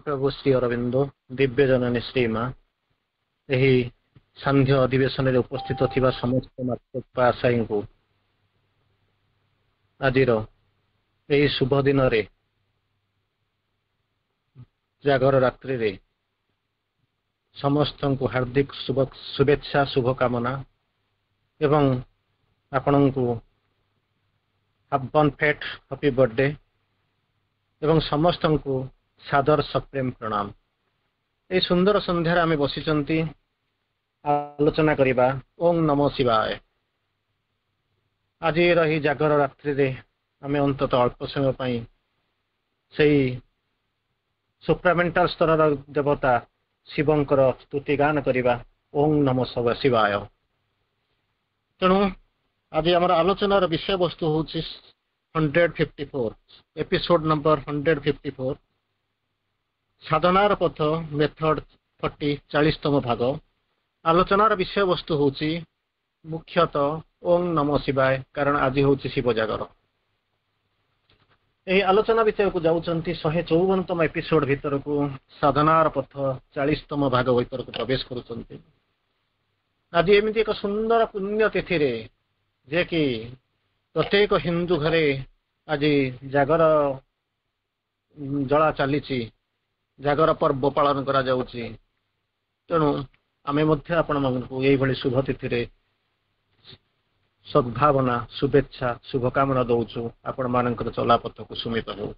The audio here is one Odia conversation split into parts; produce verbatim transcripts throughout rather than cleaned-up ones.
ମହାପ୍ରଭୁ ଶ୍ରୀ ଅରବିନ୍ଦ, ଦିବ୍ୟ ଜନନୀ ଶ୍ରୀମା, ଏହି ସାନ୍ଧ୍ୟ ଅଧିବେଶନରେ ଉପସ୍ଥିତ ଥିବା ସମସ୍ତ ମାତୃକୃପା ଆଶାୟୀଙ୍କୁ ଆଜିର ଏହି ଶୁଭ ଦିନରେ, ଜାଗର ରାତ୍ରିରେ ସମସ୍ତଙ୍କୁ ହାର୍ଦ୍ଦିକ ଶୁଭେଚ୍ଛା, ଶୁଭକାମନା ଏବଂ ଆପଣଙ୍କୁ ବନ୍ ଫେଟ୍ ହାପି ବର୍ଥଡେ ଏବଂ ସମସ୍ତଙ୍କୁ ସାଦର ସପ୍ରେମ ପ୍ରଣାମ। ଏହି ସୁନ୍ଦର ସନ୍ଧ୍ୟାରେ ଆମେ ବସିଛନ୍ତି, ଆଲୋଚନା କରିବା ଓಂ ନମ ଶିବାୟ। ଆଜିର ଏହି ଜାଗର ରାତ୍ରିରେ ଆମେ ଅନ୍ତତଃ ଅଳ୍ପ ସମୟ ପାଇଁ ସେଇ ସୁପ୍ରାମେଣ୍ଟାଲ ସ୍ତରର ଦେବତା ଶିବଙ୍କର ସ୍ତୁତି ଗାନ କରିବା, ଓଂ ନମ ଶିବାୟ। ତେଣୁ ଆଜି ଆମର ଆଲୋଚନାର ବିଷୟବସ୍ତୁ ହେଉଛି hundred fifty four, episode number hundred fifty four, ସାଧନାର ପଥ, ମେଥଡ ଫର୍ଟି, ଚାଳିଶତମ ଭାଗ। ଆଲୋଚନାର ବିଷୟବସ୍ତୁ ହେଉଛି ମୁଖ୍ୟତଃ ଓଂ ନମ ଶିବାୟ, କାରଣ ଆଜି ହେଉଛି ଶିବ ଜାଗର। ଏହି ଆଲୋଚନା ବିଷୟକୁ ଯାଉଛନ୍ତି, ଶହେ ଚଉବନତମ ଏପିସୋଡ ଭିତରକୁ, ସାଧନାର ପଥ ଚାଳିଶତମ ଭାଗ ଭିତରକୁ ପ୍ରବେଶ କରୁଛନ୍ତି। ଆଜି ଏମିତି ଏକ ସୁନ୍ଦର ପୁଣ୍ୟ ତିଥିରେ ଯେ କି ପ୍ରତ୍ୟେକ ହିନ୍ଦୁ ଘରେ ଆଜି ଜାଗର ଜଳା ଚାଲିଛି, ଜାଗର ପର୍ବ ପାଳନ କରାଯାଉଛି। ତେଣୁ ଆମେ ମଧ୍ୟ ଆପଣମାନଙ୍କୁ ଏଇଭଳି ଶୁଭ ତିଥିରେ ସଦ୍ଭାବନା, ଶୁଭେଚ୍ଛା, ଶୁଭକାମନା ଦଉଛୁ। ଆପଣମାନଙ୍କର ଚଲାପଥ କୁସୁମିତ ହେଉ।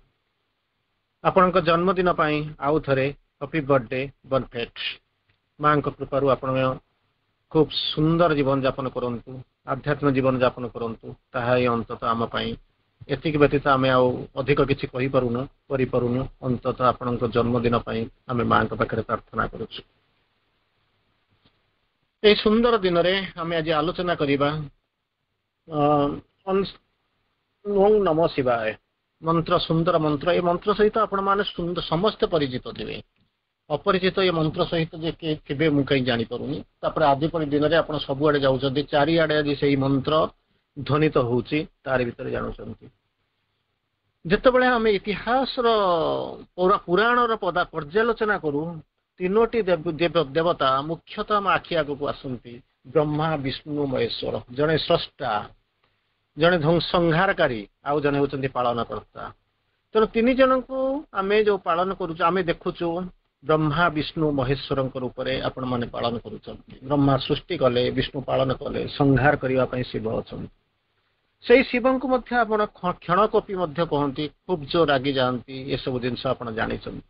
ଆପଣଙ୍କ ଜନ୍ମଦିନ ପାଇଁ ଆଉ ଥରେ ହାପି ବର୍ଥଡେ ବନଫେଟ୍। ମାଙ୍କ କୃପାରୁ ଆପଣ ଖୁବ୍ ସୁନ୍ଦର ଜୀବନ ଯାପନ କରନ୍ତୁ, ଆଧ୍ୟାତ୍ମିକ ଜୀବନ ଯାପନ କରନ୍ତୁ, ତାହା ହିଁ ଅନ୍ତତଃ ଆମ ପାଇଁ। ଏତିକି ବ୍ୟତୀତ ଆମେ ଆଉ ଅଧିକ କିଛି କହିପାରୁନୁ, କରିପାରୁନୁ। ଅନ୍ତତଃ ଆପଣଙ୍କ ଜନ୍ମଦିନ ପାଇଁ ଆମେ ମାଙ୍କ ପାଖରେ ପ୍ରାର୍ଥନା କରୁଛୁ। ଏହି ସୁନ୍ଦର ଦିନରେ ଆମେ ଆଜି ଆଲୋଚନା କରିବା ଓଂ ନମ ଶିବାୟ ମନ୍ତ୍ର। ସୁନ୍ଦର ମନ୍ତ୍ର। ଏ ମନ୍ତ୍ର ସହିତ ଆପଣମାନେ ସମସ୍ତେ ପରିଚିତ ଥିବେ। ଅପରିଚିତ ଏ ମନ୍ତ୍ର ସହିତ ଯେ କିଏ ଥିବେ, ମୁଁ କାହିଁ ଜାଣିପାରୁନି। ତାପରେ ଆଜି ପରି ଦିନରେ ଆପଣ ସବୁଆଡେ ଯାଉଛନ୍ତି, ଚାରିଆଡେ ଆଜି ସେଇ ମନ୍ତ୍ର ଧ୍ୱନିତ ହଉଛି, ତାରି ଭିତରେ ଜାଣୁଛନ୍ତି। ଯେତେବେଳେ ଆମେ ଇତିହାସର, ପୁରାଣର ପଦା ପର୍ଯ୍ୟାଲୋଚନା କରୁ, ତିନୋଟି ଦେବତା ମୁଖ୍ୟତଃ ଆମ ଆଖି ଆଗକୁ ଆସନ୍ତି, ବ୍ରହ୍ମା, ବିଷ୍ଣୁ, ମହେଶ୍ୱର। ଜଣେ ସ୍ରଷ୍ଟା, ଜଣେ ସଂହାରକାରୀ, ଆଉ ଜଣେ ହେଉଛନ୍ତି ପାଳନକର୍ତ୍ତା। ତେଣୁ ତିନି ଜଣଙ୍କୁ ଆମେ ଯୋଉ ପାଳନ କରୁଛୁ, ଆମେ ଦେଖୁଛୁ ବ୍ରହ୍ମା, ବିଷ୍ଣୁ, ମହେଶ୍ୱରଙ୍କ ରୂପରେ ଆପଣମାନେ ପାଳନ କରୁଛନ୍ତି। ବ୍ରହ୍ମା ସୃଷ୍ଟି କଲେ, ବିଷ୍ଣୁ ପାଳନ କଲେ, ସଂହାର କରିବା ପାଇଁ ଶିବ ଅଛନ୍ତି। ସେଇ ଶିବଙ୍କୁ ମଧ୍ୟ ଆପଣ କ୍ଷଣକୋପି ମଧ୍ୟ କହନ୍ତି, ଖୁବ୍ ଜୋର ରାଗି ଯାଆନ୍ତି, ଏସବୁ ଜିନିଷ ଆପଣ ଜାଣିଛନ୍ତି।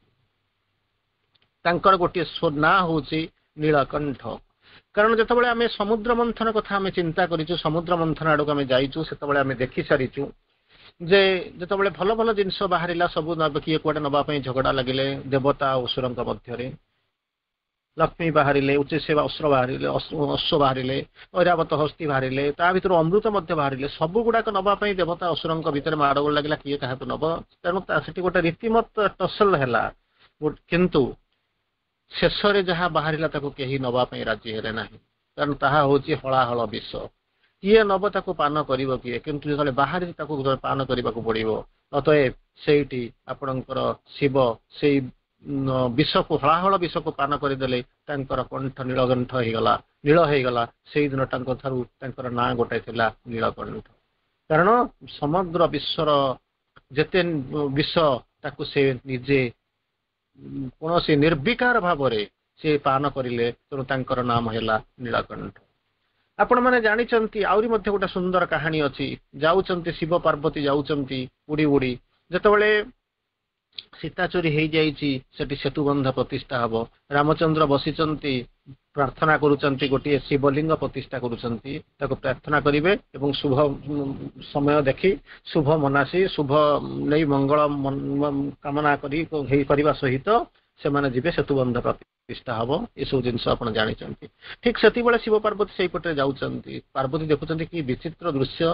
ତାଙ୍କର ଗୋଟିଏ ନାଁ ହଉଛି ନୀଳକଣ୍ଠ। କାରଣ ଯେତେବେଳେ ଆମେ ସମୁଦ୍ର ମନ୍ଥନ କଥା ଆମେ ଚିନ୍ତା କରିଛୁ, ସମୁଦ୍ର ମନ୍ଥନ ଆଡକୁ ଆମେ ଯାଇଛୁ, ସେତେବେଳେ ଆମେ ଦେଖି ସାରିଛୁ ଯେ ଯେତେବେଳେ ଭଲ ଭଲ ଜିନିଷ ବାହାରିଲା, ସବୁ କିଏ କୁଆଡେ ନବା ପାଇଁ ଝଗଡା ଲାଗିଲେ ଦେବତା ଅସୁରଙ୍କ ମଧ୍ୟରେ। ଲକ୍ଷ୍ମୀ ବାହାରିଲେ, ଉଚ୍ଚୈଶ୍ରବା ଅସ୍ତ୍ର ବାହାରିଲେ, ଅଶ୍ୱ ବାହାରିଲେ, ଐରାବତ ହସ୍ତି ବାହାରିଲେ, ତା ଭିତରୁ ଅମୃତ ମଧ୍ୟ ବାହାରିଲେ। ସବୁ ଗୁଡାକ ନବା ପାଇଁ ଦେବତା ଅସୁରଙ୍କ ଭିତରେ ମାଡ଼ଗୋଳ ଲାଗିଲା, କିଏ କାହାକୁ ନବ। ତେଣୁ ସେଠି ଗୋଟେ ରୀତିମତ ଟସଲ ହେଲା। କିନ୍ତୁ ଶେଷରେ ଯାହା ବାହାରିଲା, ତାକୁ କେହି ନବା ପାଇଁ ରାଜି ହେଲେ ନାହିଁ, କାରଣ ତାହା ହଉଛି ହଳାହଳ ବିଷ। କିଏ ନବ ତାକୁ, ପାନ କରିବ କିଏ? କିନ୍ତୁ ଯେତେବେଳେ ବାହାରିଛି, ତାକୁ ପାନ କରିବାକୁ ପଡିବ। ଅତଏବ ସେଇଠି ଆପଣଙ୍କର ଶିବ ସେଇ ବିଷକୁ, ହଳାହଳ ବିଷକୁ ପାନ କରିଦେଲେ। ତାଙ୍କର କଣ୍ଠ ନୀଳକଣ୍ଠ ହେଇଗଲା, ନୀଳ ହେଇଗଲା। ସେଇଦିନ ତାଙ୍କ ଠାରୁ ତାଙ୍କର ନାଁ ଗୋଟେ ଥିଲା ନୀଳକଣ୍ଠ, କାରଣ ସମଗ୍ର ବିଶ୍ୱର ଯେତେ ବିଷ, ତାକୁ ସେ ନିଜେ କୌଣସି ନିର୍ବିକାର ଭାବରେ ସେ ପାନ କରିଲେ। ତେଣୁ ତାଙ୍କର ନାମ ହେଲା ନୀଳକଣ୍ଠ। ଆପଣମାନେ ଜାଣିଛନ୍ତି, ଆହୁରି ମଧ୍ୟ ଗୋଟେ ସୁନ୍ଦର କାହାଣୀ ଅଛି। ଯାଉଛନ୍ତି ଶିବ ପାର୍ବତୀ, ଯାଉଛନ୍ତି ଉଡି ଉଡି। ଯେତେବେଳେ ସୀତା ଚୋରି ହେଇଯାଇଛି, ସେଠି ସେତୁବନ୍ଧ ପ୍ରତିଷ୍ଠା ହବ। ରାମଚନ୍ଦ୍ର ବସିଛନ୍ତି, ପ୍ରାର୍ଥନା କରୁଛନ୍ତି, ଗୋଟିଏ ଶିବଲିଙ୍ଗ ପ୍ରତିଷ୍ଠା କରୁଛନ୍ତି। ତାକୁ ପ୍ରାର୍ଥନା କରିବେ ଏବଂ ଶୁଭ ସମୟ ଦେଖି, ଶୁଭ ମନାସି, ଶୁଭ ନେଇ, ମଙ୍ଗଳ କାମନା କରି କରିବା ସହିତ ସେମାନେ ଯିବେ, ସେତୁବନ୍ଧ ପ୍ରତିଷ୍ଠା ହବ। ଏସବୁ ଜିନିଷ ଆପଣ ଜାଣିଛନ୍ତି। ଠିକ ସେତିକିବେଳେ ଶିବ ପାର୍ବତୀ ସେଇପଟରେ ଯାଉଛନ୍ତି। ପାର୍ବତୀ ଦେଖୁଛନ୍ତି କି ବିଚିତ୍ର ଦୃଶ୍ୟ!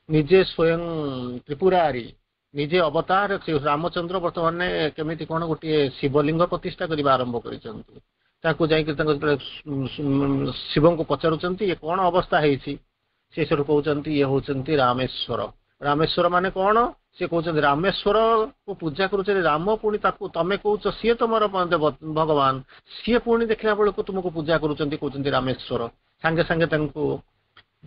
ନିଜେ ସ୍ୱୟଂ ତ୍ରିପୁରାରୀ, ନିଜେ ଅବତାର ରାମଚନ୍ଦ୍ର ବର୍ତ୍ତମାନ କେମିତି କଣ ଗୋଟିଏ ଶିବଲିଙ୍ଗ ପ୍ରତିଷ୍ଠା କରିବା ଆରମ୍ଭ କରିଛନ୍ତି। ତାଙ୍କୁ ଯାଇକି ତାଙ୍କ ଶିବଙ୍କୁ ପଚାରୁଛନ୍ତି, ଇଏ କଣ ଅବସ୍ଥା ହେଇଛି? ସେ ସେଠୁ କହୁଛନ୍ତି, ଇଏ ହଉଛନ୍ତି ରାମେଶ୍ୱର। ରାମେଶ୍ୱର ମାନେ କଣ? ସେ କହୁଛନ୍ତି ରାମେଶ୍ୱରକୁ ପୂଜା କରୁଛନ୍ତି ରାମ, ପୁଣି ତାକୁ ତମେ କହୁଛ ସିଏ ତମର ଭଗବାନ, ସିଏ ପୁଣି ଦେଖିଲା ବେଳକୁ ତୁମକୁ ପୂଜା କରୁଛନ୍ତି, କହୁଛନ୍ତି ରାମେଶ୍ୱର। ସାଙ୍ଗେ ସାଙ୍ଗେ ତାଙ୍କୁ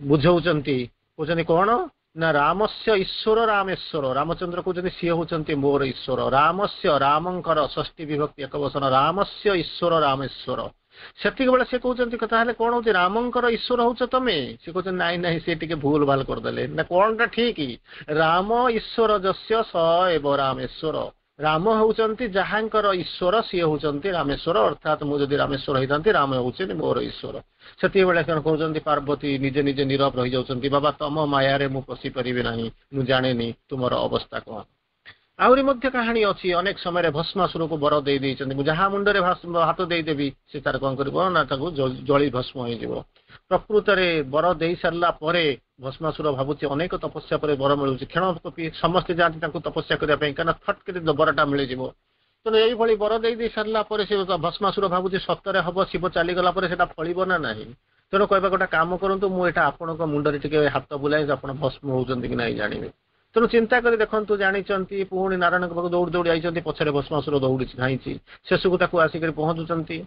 ବୁଝଉଛନ୍ତି, କହୁଛନ୍ତି କଣ ନା ରାମସ୍ୟ ଈଶ୍ୱର ରାମେଶ୍ୱର। ରାମଚନ୍ଦ୍ର କହୁଛନ୍ତି ସିଏ ହଉଛନ୍ତି ମୋର ଈଶ୍ୱର। ରାମସ୍ୟ, ରାମଙ୍କର ଷଷ୍ଠୀ ବିଭକ୍ତି ଏକବଚନ, ରାମସ୍ୟ ଈଶ୍ୱର ରାମେଶ୍ୱର। ସେତିକି ବେଳେ ସେ କହୁଛନ୍ତି ତାହେଲେ କଣ ହଉଛି, ରାମଙ୍କର ଈଶ୍ୱର ହଉଛ ତମେ? ସେ କହୁଛନ୍ତି ନାଇଁ ନାଇଁ, ସେ ଟିକେ ଭୁଲ ଭାଲ କରିଦେଲେ ନା, କଣଟା ଠିକ? ରାମ ଈଶ୍ୱର ଯସ୍ୟ ସ ଏବ ରାମେଶ୍ୱର। ରାମ ହଉଛନ୍ତି ଯାହାଙ୍କର ଈଶ୍ୱର, ସିଏ ହଉଛନ୍ତି ରାମେଶ୍ୱର। ଅର୍ଥାତ ମୁଁ ଯଦି ରାମେଶ୍ୱର ହେଇଥାନ୍ତି, ରାମ ହଉଛନ୍ତି ମୋର ଈଶ୍ୱର। ସେତିକି କଣ କହୁଛନ୍ତି ପାର୍ବତୀ ନିଜେ ନିଜେ ନୀରବ ରହିଯାଉଛନ୍ତି। ବାବା, ତମ ମାୟାରେ ମୁଁ ପଶି ପାରିବି ନାହିଁ, ମୁଁ ଜାଣେନି ତୁମର ଅବସ୍ଥା କଣ। ଆହୁରି ମଧ୍ୟ କାହାଣୀ ଅଛି, ଅନେକ ସମୟରେ ଭସ୍ମାସୁରକୁ ବର ଦେଇ ଦେଇଛନ୍ତି, ମୁଁ ଯାହା ମୁଣ୍ଡରେ ହାତ ଦେଇଦେବି ସେ ତାର କଣ କରିବ ନା ତାକୁ ଜଳି ଭସ୍ମ ହେଇଯିବ। ପ୍ରକୃତରେ ବର ଦେଇ ସାରିଲା ପରେ ଭସ୍ମାସୁର ଭାବୁଛି ଅନେକ ତପସ୍ୟା ପରେ ବର ମିଳୁଛି, କ୍ଷଣ ସମସ୍ତେ ଯାଆନ୍ତି ତାଙ୍କୁ ତପସ୍ୟା କରିବା ପାଇଁ, କାରଣ ଫଟ କରି ବରଟା ମିଳିଯିବ। ତେଣୁ ଏଇଭଳି ବର ଦେଇ ଦେଇ ସାରିଲା ପରେ ସେ ଭସ୍ମାସୁର ଭାବୁଛି ସତରେ ହବ, ଶିବ ଚାଲିଗଲା ପରେ ସେଟା ଫଳିବ ନା ନାହିଁ। ତେଣୁ କହିବା ଗୋଟେ କାମ କରନ୍ତୁ, ମୁଁ ଏଇଟା ଆପଣଙ୍କ ମୁଣ୍ଡରେ ଟିକେ ହାତ ବୁଲାଇ ଆପଣ ଭସ୍ମ ହଉଛନ୍ତି କି ନାହିଁ ଜାଣିବେ। ତେଣୁ ଚିନ୍ତା କରି ଦେଖନ୍ତୁ, ଜାଣିଛନ୍ତି ପୁଣି ନାରାୟଣଙ୍କ ପାଖକୁ ଦୌଡ଼ି ଦୌଡ଼ି ଯାଇଛନ୍ତି, ପଛରେ ଭସ୍ମାସୁର ଦୌଡ଼ିଛି ଧାଇଁଛି, ଶେଷକୁ ତାକୁ ଆସିକରି ପହଞ୍ଚୁଛନ୍ତି।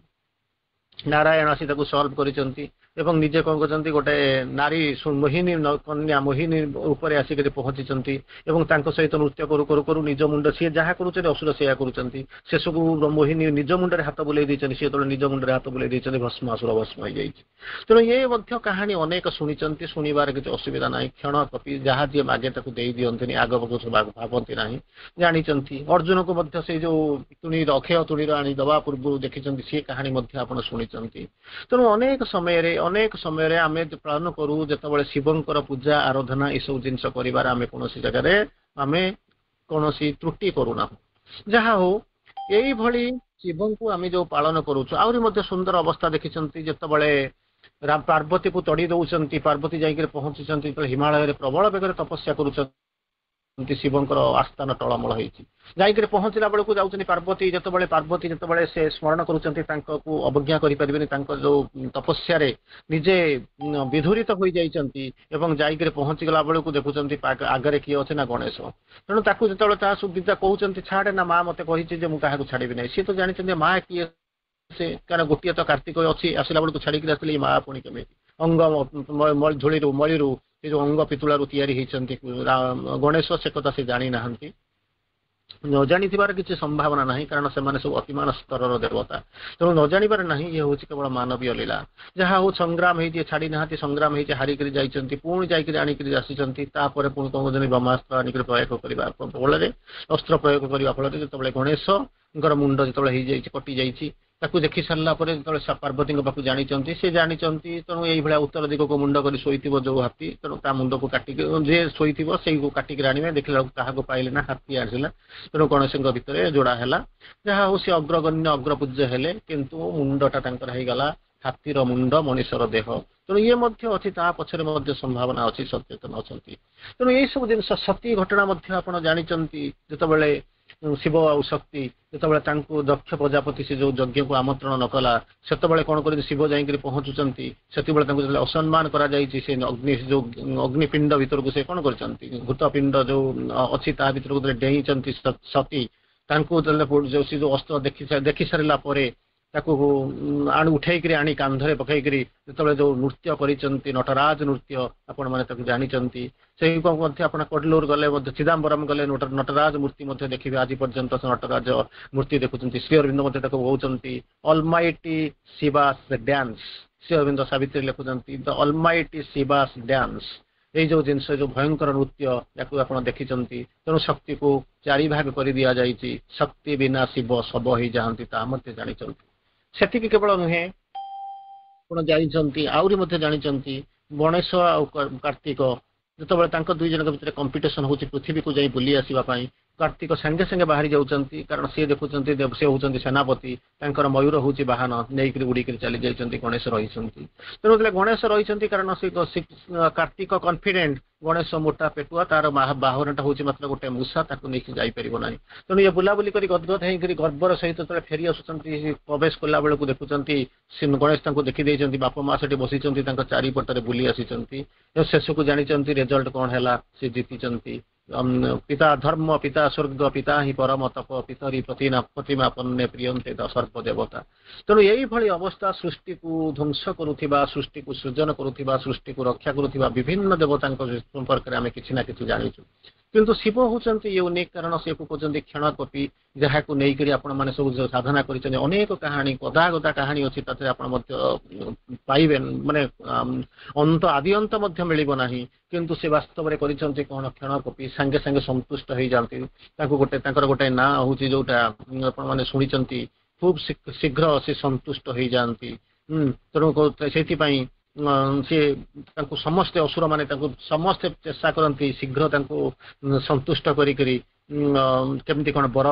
ନାରାୟଣ ଆସି ତାକୁ ସଲ୍ଭ କରିଛନ୍ତି ଏବଂ ନିଜେ କଣ କରିଛନ୍ତି, ଗୋଟେ ନାରୀ ମୋହିନୀ କନ୍ୟା ମୋହିନୀ ଉପରେ ଆସିକରି ପହଞ୍ଚିଛନ୍ତି ଏବଂ ତାଙ୍କ ସହିତ ନୃତ୍ୟ କରୁ କରୁ କରୁ ନିଜ ମୁଣ୍ଡ ସିଏ ଯାହା କରୁଛନ୍ତି ଅସୁର ସେଇଆ କରୁଛନ୍ତି। ଶେଷକୁ ମୋହିନୀ ନିଜ ମୁଣ୍ଡରେ ହାତ ବୁଲେଇ ଦେଇଛନ୍ତି, ସିଏ ଯେତେବେଳେ ନିଜ ମୁଣ୍ଡରେ ହାତ ବୁଲେଇ ଦେଇଛନ୍ତି ଭସ୍ମାସୁର ଭସ୍ମ ହେଇଯାଇଛି। ତେଣୁ ଏ ମଧ୍ୟ କାହାଣୀ ଅନେକ ଶୁଣିଛନ୍ତି, ଶୁଣିବାର କିଛି ଅସୁବିଧା ନାହିଁ। କ୍ଷଣ କପି ଯାହା ଯିଏ ମାଗେ ତାକୁ ଦେଇ ଦିଅନ୍ତିନି, ଆଗ ଭାବନ୍ତି ନାହିଁ, ଜାଣିଛନ୍ତି। ଅର୍ଜୁନକୁ ମଧ୍ୟ ସେଇ ଯୋଉ ତୁଣୀର ଅକ୍ଷୟ ତୁଣୀର ଆଣି ଦେବା ପୂର୍ବରୁ ଦେଖିଛନ୍ତି, ସିଏ କାହାଣୀ ମଧ୍ୟ ଆପଣ ଶୁଣିଛନ୍ତି। ତେଣୁ ଅନେକ ସମୟରେ ଅନେକ ସମୟରେ ଆମେ ପାଳନ କରୁ, ଯେତେବେଳେ ଶିବଙ୍କର ପୂଜା ଆରାଧନା ଏସବୁ ଜିନିଷ କରିବାର ଆମେ କୌଣସି ଜାଗାରେ ଆମେ କୌଣସି ତ୍ରୁଟି କରୁନାହୁଁ। ଯାହା ହଉ, ଏଇଭଳି ଶିବଙ୍କୁ ଆମେ ଯୋଉ ପାଳନ କରୁଛୁ। ଆହୁରି ମଧ୍ୟ ସୁନ୍ଦର ଅବସ୍ଥା ଦେଖିଛନ୍ତି, ଯେତେବେଳେ ପାର୍ବତୀକୁ ତଡ଼ି ଦଉଛନ୍ତି, ପାର୍ବତୀ ଯାଇକରି ପହଞ୍ଚୁଛନ୍ତି, ଯେତେବେଳେ ହିମାଳୟରେ ପ୍ରବଳ ବେଗରେ ତପସ୍ୟା କରୁଛନ୍ତି, ଶିବଙ୍କର ଆସ୍ଥାନ ଟଳମଳ ହେଇଛି। ଯାଇକରି ପହଞ୍ଚିଲା ବେଳକୁ ଯାଉଛନ୍ତି ପାର୍ବତୀ, ଯେତେବେଳେ ପାର୍ବତୀ ଯେତେବେଳେ ସେ ସ୍ମରଣ କରୁଛନ୍ତି, ତାଙ୍କକୁ ଅବଜ୍ଞା କରିପାରିବେନି, ତାଙ୍କ ଯୋଉ ତପସ୍ୟାରେ ନିଜେ ବିଧୁରିତ ହୋଇଯାଇଛନ୍ତି ଏବଂ ଯାଇକରି ପହଞ୍ଚିଗଲା ବେଳକୁ ଦେଖୁଛନ୍ତି ଆଗରେ କିଏ ଅଛି ନା ଗଣେଶ। ତେଣୁ ତାକୁ ଯେତେବେଳେ ତା ସୁବିଧା କହୁଛନ୍ତି ଛାଡ଼େ ନା, ମା ମତେ କହିଛି ଯେ ମୁଁ କାହାକୁ ଛାଡ଼ିବି ନାହିଁ। ସିଏ ତ ଜାଣିଛନ୍ତି ମା କିଏ ସେ, କାରଣ ଗୋଟିଏ ତ କାର୍ତ୍ତିକ ଅଛି, ଆସିଲା ବେଳକୁ ଛାଡ଼ିକିରି ଆସିଲେ ମା ପୁଣି କେମିତି ଅଙ୍ଗ ଧୂଳିରୁ ମଳିରୁ ସେ ଯୋଉ ଅଙ୍ଗ ପିତୁଳାରୁ ତିଆରି ହେଇଛନ୍ତି ଗଣେଶ, ସେ କଥା ସେ ଜାଣିନାହାନ୍ତି। ନ ଜାଣିଥିବାର କିଛି ସମ୍ଭାବନା ନାହିଁ, କାରଣ ସେମାନେ ସବୁ ଅତିମାନ ସ୍ତରର ଦେବତା। ତେଣୁ ନ ଜାଣିବାର ନାହିଁ, ଇଏ ହଉଛି କେବଳ ମାନବୀୟ ଲୀଳା। ଯାହା ହଉ ସଂଗ୍ରାମ ହେଇଛି, ଛାଡ଼ି ନାହାନ୍ତି, ସଂଗ୍ରାମ ହେଇଛି, ହାରିକିରି ଯାଇଛନ୍ତି, ପୁଣି ଯାଇକିରି ଆଣିକିରି ଆସିଛନ୍ତି। ତାପରେ ପୁଣି କଣ କରୁଛନ୍ତି, ବ୍ରହ୍ମାସ୍ତ୍ର ଆଣିକିରି ପ୍ରୟୋଗ କରିବା ଫଳରେ, ଅସ୍ତ୍ର ପ୍ରୟୋଗ କରିବା ଫଳରେ ଯେତେବେଳେ ଗଣେଶଙ୍କର ମୁଣ୍ଡ ଯେତେବେଳେ ହେଇଯାଇଛି, କଟି ଯାଇଛି, ତାକୁ ଦେଖି ସାରିଲା ପରେ ଯେତେବେଳେ ପାର୍ବତୀଙ୍କ ପାଖକୁ ଜାଣିଛନ୍ତି, ସେ ଜାଣିଛନ୍ତି। ତେଣୁ ଏଇଭଳିଆ ଉତ୍ତର ଦିଗକୁ ମୁଣ୍ଡ କରି ଶୋଇଥିବ ଯୋଉ ହାତୀ, ତେଣୁ ତା ମୁଣ୍ଡକୁ କାଟିକି ଯିଏ ଶୋଇଥିବ ସେଇକୁ କାଟିକିରି ଆଣିବେ। ଦେଖିଲା ବେଳକୁ କାହାକୁ ପାଇଲେ ନା ହାତୀ ଆସିଲା। ତେଣୁ ଗଣେଶଙ୍କ ଭିତରେ ଯୋଡା ହେଲା। ଯାହା ହଉ ସେ ଅଗ୍ରଗଣ୍ୟ ଅଗ୍ରପୂଜ୍ୟ ହେଲେ, କିନ୍ତୁ ମୁଣ୍ଡଟା ତାଙ୍କର ହେଇଗଲା ହାତୀର ମୁଣ୍ଡ, ମଣିଷର ଦେହ। ତେଣୁ ଇଏ ମଧ୍ୟ ଅଛି, ତା ପଛରେ ମଧ୍ୟ ସମ୍ଭାବନା ଅଛି, ସଚେତନ ଅଛନ୍ତି। ତେଣୁ ଏଇ ସବୁ ଜିନିଷ ସତୀ ଘଟଣା ମଧ୍ୟ ଆପଣ ଜାଣିଛନ୍ତି। ଯେତେବେଳେ ଶିବ ଆଉ ଶକ୍ତି ଯେତେବେଳେ ତାଙ୍କୁ ଦକ୍ଷ ପ୍ରଜାପତି ସେ ଯୋଉ ଯଜ୍ଞକୁ ଆମନ୍ତ୍ରଣ ନ କଲା, ସେତେବେଳେ କଣ କରିବେ, ଶିବ ଯାଇକରି ପହଞ୍ଚୁଛନ୍ତି। ସେତେବେଳେ ତାଙ୍କୁ ଯେତେବେଳେ ଅସମ୍ମାନ କରାଯାଇଛି, ସେ ଅଗ୍ନି ଯୋଉ ଅଗ୍ନିପିଣ୍ଡ ଭିତରକୁ ସେ କଣ କରିଛନ୍ତି, ଘୃତପିଣ୍ଡ ଯୋଉ ଅଛି ତା ଭିତରକୁ ଯେତେବେଳେ ଡେଇଁଛନ୍ତି ସତୀ, ତାଙ୍କୁ ଯେତେବେଳେ ଯୋଉ ସେ ଯୋଉ ଅସ୍ତ୍ର ଦେଖି ଦେଖି ସାରିଲା ପରେ ତାକୁ ଆଣି ଉଠେଇକିରି ଆଣି କାନ୍ଧରେ ପକେଇକିରି ଯେତେବେଳେ ଯୋଉ ନୃତ୍ୟ କରିଛନ୍ତି, ନଟରାଜ ନୃତ୍ୟ, ଆପଣମାନେ ତାକୁ ଜାଣିଛନ୍ତି। ସେଇ ମଧ୍ୟ ଆପଣ କଡଲୁର ଗଲେ ମଧ୍ୟ, ଚିଦାମ୍ବରମ ଗଲେ ନଟରାଜ ମୂର୍ତ୍ତି ମଧ୍ୟ ଦେଖିବେ। ଆଜି ପର୍ଯ୍ୟନ୍ତ ସେ ନଟରାଜ ମୂର୍ତ୍ତି ଦେଖୁଛନ୍ତି। ଶ୍ରୀ ଅରବିନ୍ଦ ମଧ୍ୟ ତାକୁ କହୁଛନ୍ତି ଅଲମାଇଟି ଶିବାସ ଡ୍ୟାନ୍ସ। ଶ୍ରୀ ଅରବିନ୍ଦ ସାବିତ୍ରୀ ଲେଖୁଛନ୍ତି ଦ ଅଲମାଇଟି ଶିବାସ ଡ୍ୟାନ୍ସ। ଏଇ ଯୋଉ ଜିନିଷ, ଯୋଉ ଭୟଙ୍କର ନୃତ୍ୟ, ୟାକୁ ଆପଣ ଦେଖିଛନ୍ତି। ତେଣୁ ଶକ୍ତିକୁ ଚାରି ଭାଗ କରି ଦିଆଯାଇଛି। ଶକ୍ତି ବିନା ଶିବ ଶବ ହେଇଯାଆନ୍ତି, ତାହା ମଧ୍ୟ ଜାଣିଛନ୍ତି। ସେତିକି କେବଳ ନୁହେଁ, ଆପଣ ଜାଣିଛନ୍ତି, ଆହୁରି ମଧ୍ୟ ଜାଣିଛନ୍ତି, ଗଣେଶ ଆଉ କାର୍ତ୍ତିକ ଯେତେବେଳେ ତାଙ୍କ ଦୁଇ ଜଣଙ୍କ ଭିତରେ କମ୍ପିଟିସନ ହଉଛି ପୃଥିବୀକୁ ଯାଇ ବୁଲି ଆସିବା ପାଇଁ, କାର୍ତ୍ତିକ ସାଙ୍ଗେ ସାଙ୍ଗେ ବାହାରି ଯାଉଛନ୍ତି, କାରଣ ସିଏ ଦେଖୁଛନ୍ତି, ସେ ହଉଛନ୍ତି ସେନାପତି, ତାଙ୍କର ମୟୂର ହଉଛି ବାହନ, ନେଇକରି ଉଡ଼ିକିରି ଚାଲି ଯାଇଛନ୍ତି। ଗଣେଶ ରହିଛନ୍ତି। ତେଣୁ ଯେତେବେଳେ ଗଣେଶ ରହିଛନ୍ତି, କାରଣ ସେ କାର୍ତ୍ତିକ କନଫିଡେଣ୍ଟ, ଗଣେଶ ମୋଟା ପେଟୁଆ, ତାର ବାହନଟା ହଉଛି ମାତ୍ର ଗୋଟେ ମୂଷା, ତାକୁ ନେଇକି ଯାଇପାରିବ ନାହିଁ। ତେଣୁ ଇଏ ବୁଲାବୁଲି କରି ଗଦଗଦ ହେଇକରି ଗର୍ବର ସହିତ ଯେତେବେଳେ ଫେରି ଆସୁଛନ୍ତି, ପ୍ରବେଶ କଲା ବେଳକୁ ଦେଖୁଛନ୍ତି ଗଣେଶ ତାଙ୍କୁ ଦେଖିଦେଇଛନ୍ତି। ବାପା ମା ସେଠି ବସିଛନ୍ତି, ତାଙ୍କ ଚାରିପଟରେ ବୁଲି ଆସିଛନ୍ତି। ଶେଷକୁ ଜାଣିଛନ୍ତି ରେଜଲ୍ଟ କଣ ହେଲା, ସେ ଜିତିଛନ୍ତି। ପିତା ଧର୍ମ, ପିତା ସ୍ୱର୍ଗ, ପିତା ହିଁ ପରମ ତପ, ପିତରି ପ୍ରତିନା ପ୍ରତିମା ପନ୍ନେ ପ୍ରିୟନ୍ତେ ସର୍ବ ଦେବତା। ତେଣୁ ଏଇଭଳି ଅବସ୍ଥା, ସୃଷ୍ଟିକୁ ଧ୍ୱଂସ କରୁଥିବା, ସୃଷ୍ଟିକୁ ସୃଜନ କରୁଥିବା, ସୃଷ୍ଟିକୁ ରକ୍ଷା କରୁଥିବା ବିଭିନ୍ନ ଦେବତାଙ୍କ ସମ୍ପର୍କରେ ଆମେ କିଛି ନା କିଛି ଜାଣିଛୁ। କିନ୍ତୁ ଶିବ ହଉଛନ୍ତି ୟୁନିକ୍, କାରଣ ସେ କହୁଛନ୍ତି କ୍ଷଣକୋପି, ଯାହାକୁ ନେଇକରି ଆପଣମାନେ ସବୁ ସାଧନା କରିଛନ୍ତି। ଅନେକ କାହାଣୀ, ଗଦା ଗଦା କାହାଣୀ ଅଛି, ତାଥିରେ ଆପଣ ମଧ୍ୟ ପାଇବେ, ମାନେ ଅନ୍ତ ଆଦି ଅନ୍ତ ମଧ୍ୟ ମିଳିବ ନାହିଁ। କିନ୍ତୁ ସେ ବାସ୍ତବରେ କରିଛନ୍ତି କଣ? କ୍ଷଣକୋପି, ସାଙ୍ଗେ ସାଙ୍ଗେ ସନ୍ତୁଷ୍ଟ ହେଇଯାଆନ୍ତି। ତାଙ୍କୁ ଗୋଟେ ତାଙ୍କର ଗୋଟେ ନାଁ ହଉଛି, ଯୋଉଟା ଆପଣମାନେ ଶୁଣିଛନ୍ତି, ଖୁବ୍ ଶୀଘ୍ର ସେ ସନ୍ତୁଷ୍ଟ ହେଇଯାଆନ୍ତି। ତେଣୁ ସେଇଥିପାଇଁ ସେ ତାଙ୍କୁ ସମସ୍ତେ, ଅସୁରମାନେ ତାଙ୍କୁ ସମସ୍ତେ ଚେଷ୍ଟା କରନ୍ତି ଶୀଘ୍ର ତାଙ୍କୁ ସନ୍ତୁଷ୍ଟ କରିକରି କେମିତି କଣ ବର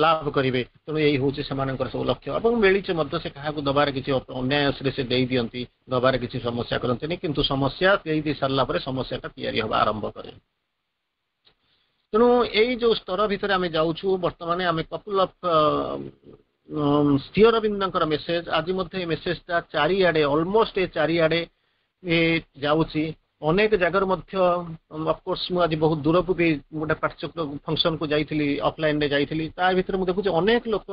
ଲାଭ କରିବେ। ତେଣୁ ଏଇ ହଉଛି ସେମାନଙ୍କର ସବୁ ଲକ୍ଷ୍ୟ ଏବଂ ମିଳିଛି ମଧ୍ୟ। ସେ କାହାକୁ ଦବାର କିଛି ଅନ୍ୟାୟରେ ସେ ଦେଇ ଦିଅନ୍ତି, ଦବାର କିଛି ସମସ୍ୟା କରନ୍ତିନି। କିନ୍ତୁ ସମସ୍ୟା ଦେଇ ଦେଇ ସାରିଲା ପରେ ସମସ୍ୟାଟା ତିଆରି ହେବା ଆରମ୍ଭ କରେ। ତେଣୁ ଏଇ ଯୋଉ ସ୍ତର ଭିତରେ ଆମେ ଯାଉଛୁ ବର୍ତ୍ତମାନ, ଆମେ କପଲ ଅଫ ଶ୍ରୀ ଅରବିନ୍ଦଙ୍କର ମେସେଜ, ଆଜି ମଧ୍ୟ ଏ ମେସେଜଟା ଚାରିଆଡେ, ଅଲମୋଷ୍ଟ ଏ ଚାରିଆଡେ ଏ ଯାଉଛି ଅନେକ ଜାଗାରୁ ମଧ୍ୟ। ଅଫକୋର୍ସ ମୁଁ ଆଜି ବହୁତ ଦୂରକୁ ବି ଗୋଟେ ପାଠଚକ୍ର ଫଙ୍କସନକୁ ଯାଇଥିଲି, ଅଫଲାଇନରେ ଯାଇଥିଲି। ତା ଭିତରେ ମୁଁ ଦେଖୁଛି ଅନେକ ଲୋକ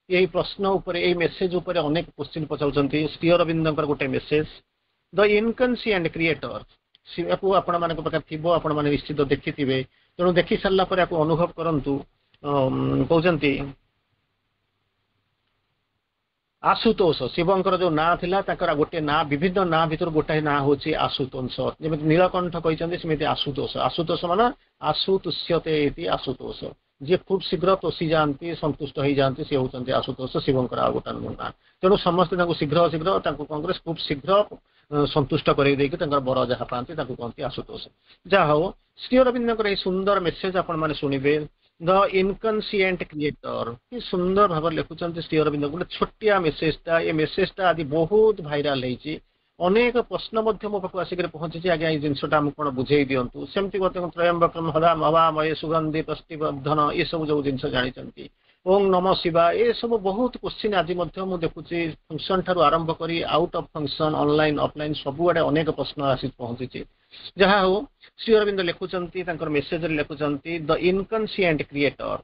ଏଇ ପ୍ରଶ୍ନ ଉପରେ, ଏଇ ମେସେଜ ଉପରେ ଅନେକ କ୍ୱେଶ୍ଚିନ୍ ପଚାରୁଛନ୍ତି। ଶ୍ରୀ ଅରବିନ୍ଦଙ୍କର ଗୋଟେ ମେସେଜ, ଦ ଇନକନସିଏଣ୍ଟ କ୍ରିଏଟର, ୟାକୁ ଆପଣମାନଙ୍କ ପାଖରେ ଥିବ, ଆପଣମାନେ ନିଶ୍ଚିତ ଦେଖିଥିବେ। ତେଣୁ ଦେଖି ସାରିଲା ପରେ ୟାକୁ ଅନୁଭବ କରନ୍ତୁ। କହୁଛନ୍ତି ଆଶୁତୋଷ, ଶିବଙ୍କର ଯୋଉ ନାଁ ଥିଲା, ତାଙ୍କର ଗୋଟିଏ ନାଁ, ବିଭିନ୍ନ ନାଁ ଭିତରୁ ଗୋଟାଏ ନାଁ ହଉଛି ଆଶୁତୋଷ। ଯେମିତି ନୀଳକଣ୍ଠ କହିଛନ୍ତି, ସେମିତି ଆଶୁତୋଷ। ଆଶୁତୋଷ ମାନେ ଆଶୁ ତୁଷ୍ୟତେ ଇତି ଆଶୁତୋଷ। ଯିଏ ଖୁବ୍ ଶୀଘ୍ର ତୋଷି ଯାଆନ୍ତି, ସନ୍ତୁଷ୍ଟ ହେଇଯାଆନ୍ତି, ସେ ହଉଛନ୍ତି ଆଶୁତୋଷ, ଶିବଙ୍କର ଆଉ ଗୋଟେ ନାଁ। ତେଣୁ ସମସ୍ତେ ତାଙ୍କୁ ଶୀଘ୍ର ଶୀଘ୍ର, ତାଙ୍କୁ କଂଗ୍ରେସ ଖୁବ୍ ଶୀଘ୍ର ସନ୍ତୁଷ୍ଟ କରେଇ ଦେଇକି ତାଙ୍କର ବର ଯାହା ପାଆନ୍ତି, ତାଙ୍କୁ କହନ୍ତି ଆଶୁତୋଷ। ଯାହା ହଉ, ଶ୍ରୀ ଅରବିନ୍ଦଙ୍କର ଏଇ ସୁନ୍ଦର ମେସେଜ ଆପଣମାନେ ଶୁଣିବେ, ଦ ଇନକନସିଏଣ୍ଟ କ୍ରିଏଟର। କି ସୁନ୍ଦର ଭାବରେ ଲେଖୁଛନ୍ତି ଶ୍ରୀ ଅରବିନ୍ଦ ଗୋଟେ ଛୋଟିଆ ମେସେଜଟା। ଏ ମେସେଜଟା ଆଜି ବହୁତ ଭାଇରାଲ ହେଇଛି। ଅନେକ ପ୍ରଶ୍ନ ମଧ୍ୟ ମୋ ପାଖକୁ ଆସିକରି ପହଞ୍ଚିଛି, ଆଜ୍ଞା ଏଇ ଜିନିଷଟା ଆମକୁ କଣ ବୁଝେଇ ଦିଅନ୍ତୁ। ସେମିତି ମଧ୍ୟ ତ୍ରୟମ୍ବକମ ହବାମହେ ସୁଗନ୍ଧି ପୁଷ୍ଟିବର୍ଦ୍ଧନ, ଏସବୁ ଯୋଉ ଜିନିଷ ଜାଣିଛନ୍ତି, ଓಂ ନମ ଶିବା, ଏସବୁ ବହୁତ କ୍ୱେଶ୍ଚିନ୍ ଆଜି ମଧ୍ୟ ମୁଁ ଦେଖୁଛି। ଫଙ୍କସନ ଠାରୁ ଆରମ୍ଭ କରି out of function, online, offline, ସବୁଆଡେ ଅନେକ ପ୍ରଶ୍ନ ଆସି ପହଞ୍ଚିଛି। ଯାହା ହଉ, ଶ୍ରୀ ଅରବିନ୍ଦ ଲେଖୁଛନ୍ତି, ତାଙ୍କର ମେସେଜରେ ଲେଖୁଛନ୍ତି, the inconscient creator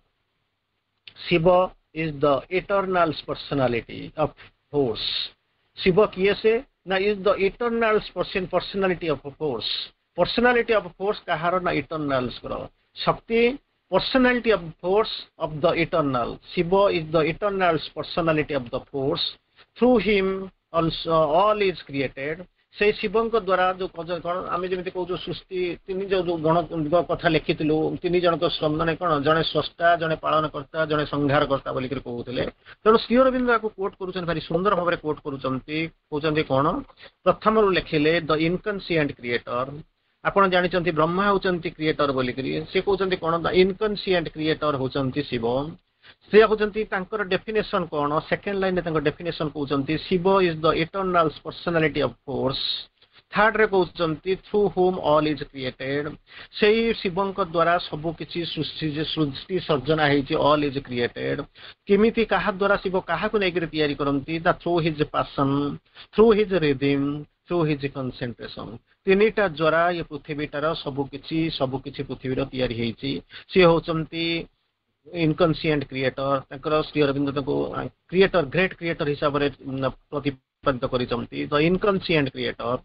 Shiva is the eternal personality of force. Shiva କିଏ ସେ ନା is the eternal personality of force. Personality of force କାହାର ନା ଇଟର୍ନାଲ୍ସଙ୍କର ଶକ୍ତି, personality of force of the eternal. Shiva is the eternal personality of the force. Through him also all is created. ସେଇ ଶିବଙ୍କ ଦ୍ଵାରା ଯୋଉ କଣ ଆମେ ଯେମିତି କହୁଛୁ ସୃଷ୍ଟି ତିନି, ଯୋଉ ଯୋଉ ଗଣ କଥା ଲେଖିଥିଲୁ, ତିନି ଜଣଙ୍କ, ମାନେ କଣ, ଜଣେ ସ୍ରଷ୍ଟା, ଜଣେ ପାଳନକର୍ତ୍ତା, ଜଣେ ସଂହାରକର୍ତ୍ତା ବୋଲିକରି କହୁଥିଲେ। ତେଣୁ ଶ୍ରୀ ଅରବିନ୍ଦ ୟାକୁ କୋଟ୍ କରୁଛନ୍ତି, ଭାରି ସୁନ୍ଦର ଭାବରେ କୋଟ୍ କରୁଛନ୍ତି। କହୁଛନ୍ତି କଣ? ପ୍ରଥମରୁ ଲେଖିଲେ ଦ ଇନକନସିଏଣ୍ଟ କ୍ରିଏଟର। ଆପଣ ଜାଣିଛନ୍ତି ବ୍ରହ୍ମା ହଉଛନ୍ତି କ୍ରିଏଟର ବୋଲିକରି। ସେ କହୁଛନ୍ତି କଣ? ଦ ଇନକନସିଏଣ୍ଟ କ୍ରିଏଟର ହଉଛନ୍ତି ଶିବ। ସେ କହୁଛନ୍ତି ତାଙ୍କର ଡେଫିନେସନ କଣ? ସେକେଣ୍ଡ ଲାଇନରେ ତାଙ୍କ ଡେଫିନେସନ କହୁଛନ୍ତି, Shiva is the eternal personality of force. ଥାର୍ଡରେ କହୁଛନ୍ତି, through whom all is created. ସେଇ ଶିବଙ୍କ ଦ୍ଵାରା ସବୁ କିଛି ସୃଷ୍ଟି ସୃଷ୍ଟି ସର୍ଜନା ହେଇଛି, ଅଲ୍ is created. କେମିତି, କାହା ଦ୍ଵାରା, ଶିବ କାହାକୁ ନେଇକରି ତିଆରି କରନ୍ତି? The through his passion, through his rhythm, through his concentration. ତିନିଟା ଦ୍ଵାରା ଏ ପୃଥିବୀଟାର ସବୁ କିଛି ସବୁ କିଛି ପୃଥିବୀର ତିଆରି ହେଇଛି। ସିଏ ହଉଛନ୍ତି ଇନକନସିଏଣ୍ଟ କ୍ରିଏଟର। ତାଙ୍କର ଶ୍ରୀ ଅରବିନ୍ଦ ତାଙ୍କୁ କ୍ରିଏଟର, ଗ୍ରେଟ୍ କ୍ରିଏଟର ହିସାବରେ ପ୍ରତିପାଦିତ କରିଛନ୍ତି, ଦ ଇନକନସିଏଣ୍ଟ କ୍ରିଏଟର।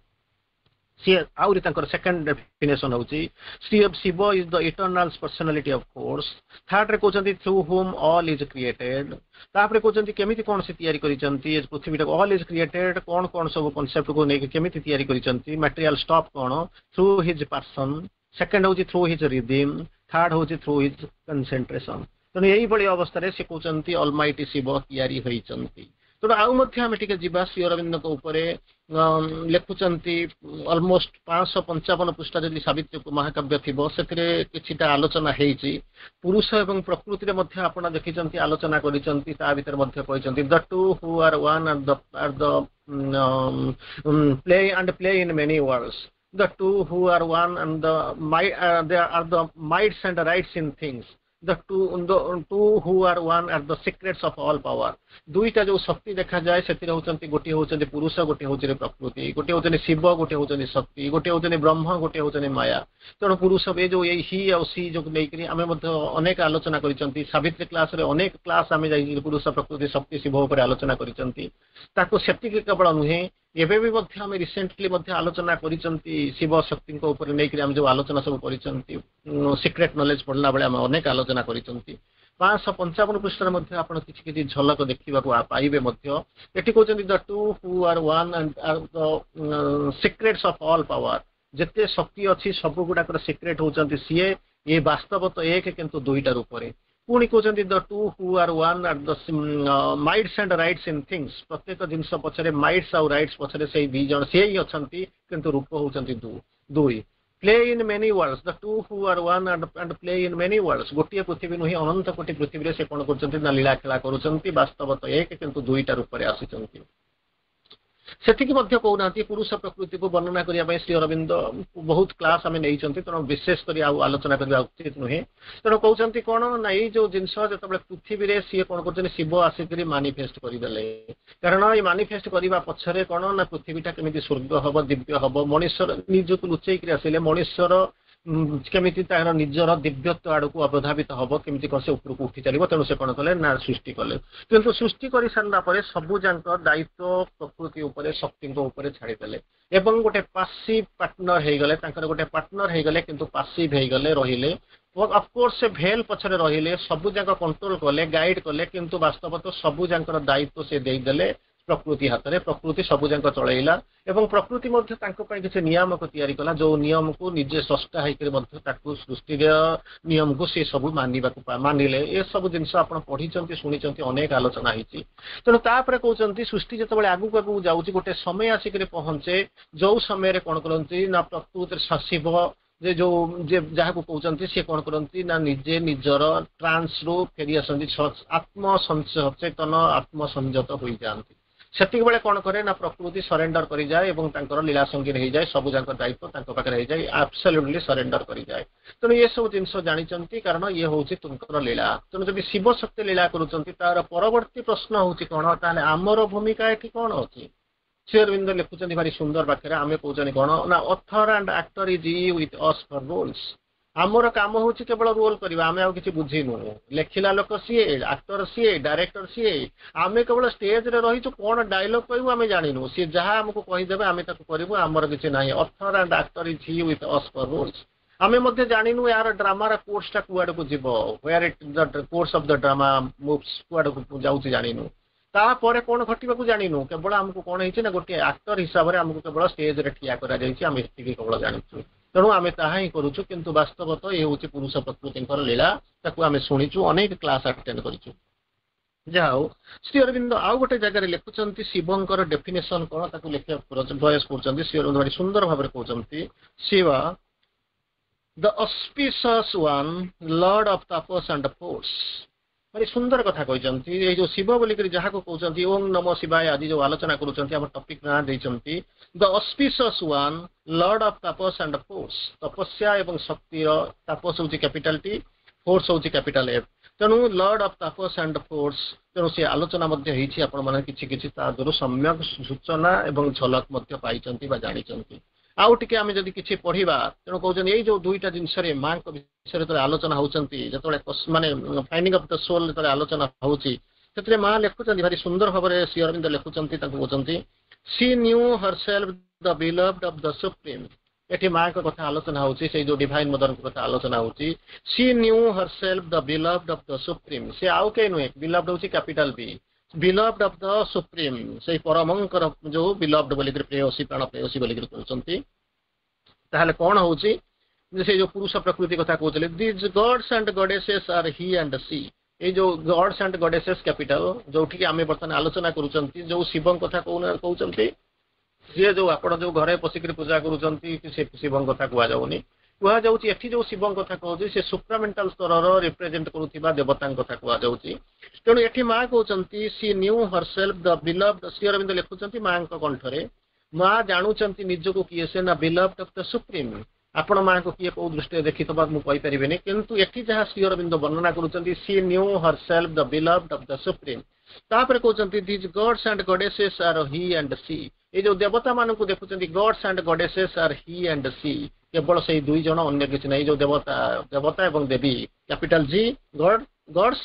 ସିଏ ଆହୁରି ତାଙ୍କର ସେକେଣ୍ଡ ଡେଫିନେସନ ହଉଛି, Shri Shiva is the eternal personality of force. ଥାର୍ଡରେ କହୁଛନ୍ତି, through whom all is created. ତାପରେ କହୁଛନ୍ତି କେମିତି କଣ ସେ ତିଆରି କରିଛନ୍ତି ଏ ପୃଥିବୀଟାକୁ। ଅଲ୍ is created କଣ କଣ ସବୁ କନସେପ୍ଟକୁ ନେଇକି କେମିତି ତିଆରି କରିଛନ୍ତି, ମାଟେରିଆଲ ଷ୍ଟଫ୍ କଣ? Through his passion. Second ହଉଛି ଥ୍ରୁ his rhythm. Third ହଉଛି ଥ୍ରୁ his concentration. ତେଣୁ ଏଇଭଳି ଅବସ୍ଥାରେ ସେ କହୁଛନ୍ତି ଅଲମାଇଟି ଶିବ ତିଆରି ହୋଇଛନ୍ତି। ତେଣୁ ଆଉ ମଧ୍ୟ ଆମେ ଟିକେ ଯିବା ଶ୍ରୀ ଅରବିନ୍ଦଙ୍କ ଉପରେ ଲେଖୁଛନ୍ତି ଅଲମୋଷ୍ଟ ପାଞ୍ଚଶହ ପଞ୍ଚାବନ ପୃଷ୍ଠା ଯଦି ସାବିତ୍ରୀ ମହାକାବ୍ୟ ଥିବ ସେଥିରେ କିଛିଟା ଆଲୋଚନା ହେଇଛି ପୁରୁଷ ଏବଂ ପ୍ରକୃତିରେ ମଧ୍ୟ ଆପଣ ଦେଖିଛନ୍ତି ଆଲୋଚନା କରିଛନ୍ତି ତା ଭିତରେ ମଧ୍ୟ କହିଛନ୍ତି the two who are one are the are the play and play in many worlds the two who are one and the might uh, they are the mights and rights in things the two the two who are one are the secrets of all power ଦୁଇଟା ଯୋଉ ଶକ୍ତି ଦେଖାଯାଏ ସେଥିରେ ହଉଛନ୍ତି ଗୋଟିଏ ହଉଛନ୍ତି ପୁରୁଷ ଗୋଟିଏ ହଉଛନ୍ତି ପ୍ରକୃତି ଗୋଟିଏ ହଉଛନ୍ତି ଶିବ ଗୋଟିଏ ହଉଛନ୍ତି ଶକ୍ତି ଗୋଟିଏ ହଉଛନ୍ତି ବ୍ରହ୍ମ ଗୋଟିଏ ହଉଛନ୍ତି ମାୟା ତେଣୁ ପୁରୁଷ ଏ ଯୋଉ ଏଇ ହି ଆଉ ସି ଯୋଉ ନେଇକରି ଆମେ ମଧ୍ୟ ଅନେକ ଆଲୋଚନା କରିଛନ୍ତି ସାବିତ୍ରୀ କ୍ଲାସରେ ଅନେକ କ୍ଲାସ ଆମେ ଯାଇକି ପୁରୁଷ ପ୍ରକୃତି ଶକ୍ତି ଶିବ ଉପରେ ଆଲୋଚନା କରିଛନ୍ତି ତାକୁ ସେତିକି କେବଳ ନୁହେଁ ଏବେ ବି ମଧ୍ୟ ଆମେ ରିସେଣ୍ଟଲି ମଧ୍ୟ ଆଲୋଚନା କରିଛନ୍ତି ଶିବ ଶକ୍ତିଙ୍କ ଉପରେ ନେଇକରି ଆମେ ଯୋଉ ଆଲୋଚନା ସବୁ କରିଛନ୍ତି ସିକ୍ରେଟ ନଲେଜ ପଢିଲା ବେଳେ ଆମେ ଅନେକ ଆଲୋଚନା କରିଛନ୍ତି ପାଞ୍ଚଶହ ପଞ୍ଚାବନ ପୃଷ୍ଠାରେ ମଧ୍ୟ ଆପଣ କିଛି କିଛି ଝଲକ ଦେଖିବାକୁ ପାଇବେ ମଧ୍ୟ ଏଠି କହୁଛନ୍ତି the two who are one and are the secrets of all power ଯେତେ ଶକ୍ତି ଅଛି ସବୁ ଗୁଡାକର ସିକ୍ରେଟ ହଉଛନ୍ତି ସିଏ ଏ ବାସ୍ତବ ତ ଏକ କିନ୍ତୁ ଦୁଇଟା ରୂପରେ ପୁଣି କହୁଛନ୍ତି the two who are one are the mights and rights in things ପ୍ରତ୍ୟେକ ଜିନିଷ ପଛରେ ମାଇଟ୍ସ ଆଉ ରାଇଟ୍ସ ପଛରେ ସେଇ ଦି ଜଣ ସିଏ ହିଁ ଅଛନ୍ତି କିନ୍ତୁ ରୂପ ହଉଛନ୍ତି ଦୁଇ play in many worlds the two who are one and, and play in many worlds ଗୋଟିଏ ପୃଥିବୀ ନୁହେଁ ଅନନ୍ତ କୋଟି ପୃଥିବୀରେ ସେ କଣ କରୁଛନ୍ତି ନା ଲୀଳା ଖେଳା କରୁଛନ୍ତି ବାସ୍ତବ ତ ଏକ କିନ୍ତୁ ଦୁଇଟା ରୂପରେ ଆସିଛନ୍ତି ସେତିକି ମଧ୍ୟ କହୁନାହାନ୍ତି ପୁରୁଷ ପ୍ରକୃତିକୁ ବର୍ଣ୍ଣନା କରିବା ପାଇଁ ଶ୍ରୀ ଅରବିନ୍ଦ ବହୁତ କ୍ଲାସ ଆମେ ନେଇଛନ୍ତି ତେଣୁ ବିଶେଷ କରି ଆଉ ଆଲୋଚନା କରିବା ଉଚିତ ନୁହେଁ ତେଣୁ କହୁଛନ୍ତି କଣ ନା ଏଇ ଯୋଉ ଜିନିଷ ଯେତେବେଳେ ପୃଥିବୀରେ ସିଏ କଣ କରୁଛନ୍ତି ଶିବ ଆସିକରି ମାନିଫେଷ୍ଟ କରିଦେଲେ କାରଣ ଏଇ ମାନିଫେଷ୍ଟ କରିବା ପଛରେ କଣ ନା ପୃଥିବୀଟା କେମିତି ସ୍ୱର୍ଗ ହବ ଦିବ୍ୟ ହବ ମଣିଷର ନିଜକୁ ଲୁଚେଇକରି ଆସିଲେ ମଣିଷର କେମିତି ତାର ନିଜର ଦିବ୍ୟତ୍ୱ ଆଡକୁ ଅବଧାବିତ ହବ କେମିତି କଣ ସେ ଉପରକୁ ଉଠି ଚାଲିବ ତେଣୁ ସେ କଣ କଲେ ନା ସୃଷ୍ଟି କଲେ କିନ୍ତୁ ସୃଷ୍ଟି କରି ସାରିଲା ପରେ ସବୁ ଯାକ ଦାୟିତ୍ୱ ପ୍ରକୃତି ଉପରେ ଶକ୍ତିଙ୍କ ଉପରେ ଛାଡ଼ିଦେଲେ ଏବଂ ଗୋଟେ ପାସିଭ ପାର୍ଟନର ହେଇଗଲେ ତାଙ୍କର ଗୋଟେ ପାର୍ଟନର ହେଇଗଲେ କିନ୍ତୁ ପାସିଭ ହେଇଗଲେ ରହିଲେ ଅଫକୋର୍ସ ସେ ଭେଲ ପଛରେ ରହିଲେ ସବୁ ଯାକ କଣ୍ଟ୍ରୋଲ କଲେ ଗାଇଡ କଲେ କିନ୍ତୁ ବାସ୍ତବତ ସବୁ ଯାଙ୍କର ଦାୟିତ୍ୱ ସେ ଦେଇଦେଲେ ପ୍ରକୃତି ହାତରେ ପ୍ରକୃତି ସବୁ ଯାକ ଚଳେଇଲା ଏବଂ ପ୍ରକୃତି ମଧ୍ୟ ତାଙ୍କ ପାଇଁ କିଛି ନିୟାମକ ତିଆରି କଲା ଯୋଉ ନିୟମକୁ ନିଜେ ସ୍ରଷ୍ଟା ହେଇକରି ମଧ୍ୟ ତାକୁ ସୃଷ୍ଟିର ନିୟମକୁ ସେ ସବୁ ମାନିବାକୁ ମାନିଲେ ଏସବୁ ଜିନିଷ ଆପଣ ପଢିଛନ୍ତି ଶୁଣିଛନ୍ତି ଅନେକ ଆଲୋଚନା ହେଇଛି ତେଣୁ ତାପରେ କହୁଛନ୍ତି ସୃଷ୍ଟି ଯେତେବେଳେ ଆଗକୁ ଆଗକୁ ଯାଉଛି ଗୋଟେ ସମୟ ଆସିକରି ପହଞ୍ଚେ ଯୋଉ ସମୟରେ କଣ କରନ୍ତି ନା ପ୍ରକୃତିରେ ଶିବ ଯେ ଯୋଉ ଯେ ଯାହାକୁ କହୁଛନ୍ତି ସିଏ କଣ କରନ୍ତି ନା ନିଜେ ନିଜର ଟ୍ରାନ୍ସରୁ ଫେରି ଆସନ୍ତି ଆତ୍ମ ସଚେତନ ଆତ୍ମସଂଯତ ହୋଇଯାଆନ୍ତି ସେତିକି ବେଳେ କଣ କରେ ନା ପ୍ରକୃତି ସରେଣ୍ଡର କରିଯାଏ ଏବଂ ତାଙ୍କର ଲୀଳା ସଙ୍ଗୀନ ହେଇଯାଏ ସବୁ ଯାକ ଦାୟିତ୍ୱ ତାଙ୍କ ପାଖରେ ହେଇଯାଏ ଆବସଲ୍ୟୁଟଲି ସରେଣ୍ଡର କରିଯାଏ ତେଣୁ ଏସବୁ ଜିନିଷ ଜାଣିଛନ୍ତି କାରଣ ଇଏ ହଉଛି ତୁମଙ୍କର ଲୀଳା ତେଣୁ ଯଦି ଶିବ ଶକ୍ତି ଲୀଳା କରୁଛନ୍ତି ତାର ପରବର୍ତ୍ତୀ ପ୍ରଶ୍ନ ହଉଛି କଣ ତାହେଲେ ଆମର ଭୂମିକା ଏଠି କଣ ଅଛି ଶ୍ରୀ ଅରବିନ୍ଦ ଲେଖୁଛନ୍ତି ଭାରି ସୁନ୍ଦର ବାକ୍ୟରେ ଆମେ କହୁଛନ୍ତି କଣ ନା author and actor is he with us for roles ଆମର କାମ ହଉଛି କେବଳ ରୋଲ କରିବା ଆମେ ଆଉ କିଛି ବୁଝିନୁ ଲେଖିଲା ଲୋକ ସିଏ ଆକ୍ଟର ସିଏ ଡାଇରେକ୍ଟର ସିଏ ଆମେ କେବଳ ଷ୍ଟେଜରେ ରହିଛୁ କଣ ଡାଇଲଗ କହିବୁ ଆମେ ଜାଣିନୁ ସିଏ ଯାହା ଆମକୁ କହିଦେବେ ଆମେ ତାକୁ କରିବୁ ଆମର କିଛି ନାହିଁ author and actor is he with us for roles ଆମେ ମଧ୍ୟ ଜାଣିନୁ ଏହାର ଡ୍ରାମାର କୋର୍ସଟା କୁଆଡକୁ ଯିବ where it the course of the drama moves କୁଆଡକୁ ଯାଉଛି ଜାଣିନୁ ତାପରେ କଣ ଘଟିବାକୁ ଜାଣିନୁ କେବଳ ଆମକୁ କଣ ହେଇଛି ନା ଗୋଟିଏ ଆକ୍ଟର ହିସାବରେ ଆମକୁ କେବଳ ଷ୍ଟେଜରେ ଠିଆ କରାଯାଇଛି ଆମେ ସେତିକି କେବଳ ଜାଣିଛୁ ତେଣୁ ଆମେ ତାହା ହିଁ କରୁଛୁ କିନ୍ତୁ ବାସ୍ତବତ ଏ ହେଉଛି ପୁରୁଷ ପ୍ରକୃତିଙ୍କର ଲୀଳା ତାକୁ ଆମେ ଶୁଣିଛୁ ଅନେକ କ୍ଲାସ ଆଟେଣ୍ଡ କରିଛୁ ଯାହା ହଉ ଶ୍ରୀ ଅରବିନ୍ଦ ଆଉ ଗୋଟେ ଜାଗାରେ ଲେଖୁଛନ୍ତି ଶିବଙ୍କର ଡେଫିନେସନ କଣ ତାକୁ ଲେଖିବାକୁ ପ୍ରୟାସ କରୁଛନ୍ତି ଶ୍ରୀ ଅରବିନ୍ଦ ଭାରି ସୁନ୍ଦର ଭାବରେ କହୁଛନ୍ତି Shiva the auspicious one lord of tapas and force ଭାରି ସୁନ୍ଦର କଥା କହିଛନ୍ତି ଏଇ ଯୋଉ ଶିବ ବୋଲିକରି ଯାହାକୁ କହୁଛନ୍ତି ଓಂ ନମ ଶିବାୟ ଆଜି ଯୋଉ ଆଲୋଚନା କରୁଛନ୍ତି ଆମ ଟପିକ ନାଁ ଦେଇଛନ୍ତି the auspicious one lord of tapas and force ତପସ୍ୟା ଏବଂ ଶକ୍ତିର ତାପସ ହଉଛି କ୍ୟାପିଟାଲ ଟି ଫୋର୍ସ ହଉଛି କ୍ୟାପିଟାଲ ଏଫ୍ ତେଣୁ lord of tapas and force ତେଣୁ ସେ ଆଲୋଚନା ମଧ୍ୟ ହେଇଛି ଆପଣମାନେ କିଛି କିଛି ତା ଦେହରୁ ସମ୍ୟକ ସୂଚନା ଏବଂ ଝଲକ ମଧ୍ୟ ପାଇଛନ୍ତି ବା ଜାଣିଛନ୍ତି ଆଉ ଟିକେ ଆମେ ଯଦି କିଛି ପଢିବା ତେଣୁ କହୁଛନ୍ତି ଏଇ ଯୋଉ ଦୁଇଟା ଜିନିଷରେ ମାଙ୍କ ବିଷୟରେ ଯେତେବେଳେ ଆଲୋଚନା ହଉଛନ୍ତି ଯେତେବେଳେ ମାନେ ଫାଇଣ୍ଡିଂ ଅଫ୍ the ସୋଲ ଯେତେବେଳେ ଆଲୋଚନା ହଉଛି ସେଥିରେ ମା ଲେଖୁଛନ୍ତି ଭାରି ସୁନ୍ଦର ଭାବରେ ଶ୍ରୀ ଅରବିନ୍ଦ ଲେଖୁଛନ୍ତି ତାଙ୍କୁ କହୁଛନ୍ତି she knew herself the beloved of the Supreme ଏଠି ମାଙ୍କ କଥା ଆଲୋଚନା ହଉଛି ସେଇ ଯୋଉ ଡିଭାଇନ ମଦରଙ୍କ କଥା ଆଲୋଚନା ହଉଛି she knew herself the beloved of the Supreme ସେ ଆଉ କେହି ନୁହେଁ ବିଲଭଡ ହଉଛି capital B beloved of the Supreme ସେଇ ପରମଙ୍କର ଯୋଉ ବିଲଭଡ ବୋଲିକରି ପ୍ରେୟସୀ ପ୍ରାଣ ପ୍ରେୟସୀ ବୋଲିକରି କହୁଛନ୍ତି ତାହେଲେ କଣ ହଉଛି ସେ ଯୋଉ ପୁରୁଷ ପ୍ରକୃତି କଥା କହୁଥିଲେ these gods and goddesses are he and she ଏଇ ଯୋଉ ଗଡ୍ସ ଆଣ୍ଡ ଗଡେସେସ୍ କ୍ୟାପିଟାଲ ଯୋଉଠିକି ଆମେ ବର୍ତ୍ତମାନ ଆଲୋଚନା କରୁଛନ୍ତି ଯୋଉ ଶିବଙ୍କ କଥା କହୁଛନ୍ତି ସିଏ ଯୋଉ ଆପଣ ଯୋଉ ଘରେ ପଶିକିରି ପୂଜା କରୁଛନ୍ତି ସେ ଶିବଙ୍କ କଥା କୁହାଯାଉନି କୁହାଯାଉଛି ଏଠି ଯୋଉ ଶିବଙ୍କ କଥା କହୁଛି ସେ ସୁପ୍ରାମେଣ୍ଟାଲ ସ୍ତରର ରିପ୍ରେଜେଣ୍ଟ କରୁଥିବା ଦେବତାଙ୍କ କଥା କୁହାଯାଉଛି ତେଣୁ ଏଠି ମା କହୁଛନ୍ତି She knew herself the beloved Shri Arvind ଲେଖୁଛନ୍ତି ମାଙ୍କ କଣ୍ଠରେ ମା ଜାଣୁଛନ୍ତି ନିଜକୁ କିଏ ସେ ନା ବିଲଭଡ୍ ଅଫ the supreme ଆପଣ ମାଙ୍କୁ କିଏ କୋଉ ଦୃଷ୍ଟିରେ ଦେଖିଥିବ ମୁଁ କହିପାରିବିନି କିନ୍ତୁ ଏଠି ଯାହା ଶ୍ରୀ ଅରବିନ୍ଦ ବର୍ଣ୍ଣନା କରୁଛନ୍ତି She knew herself the beloved of the Supreme ତାପରେ କହୁଛନ୍ତି These gods and goddesses are he and she ଏଇ ଯୋଉ ଦେବତା ମାନଙ୍କୁ ଦେଖୁଛନ୍ତି gods and goddesses are he and she କେବଳ ସେଇ ଦୁଇ ଜଣ ଅନ୍ୟ କିଛି ନାହିଁ ଯୋଉ ଦେବତା ଦେବତା ଏବଂ ଦେବୀ capital G God gods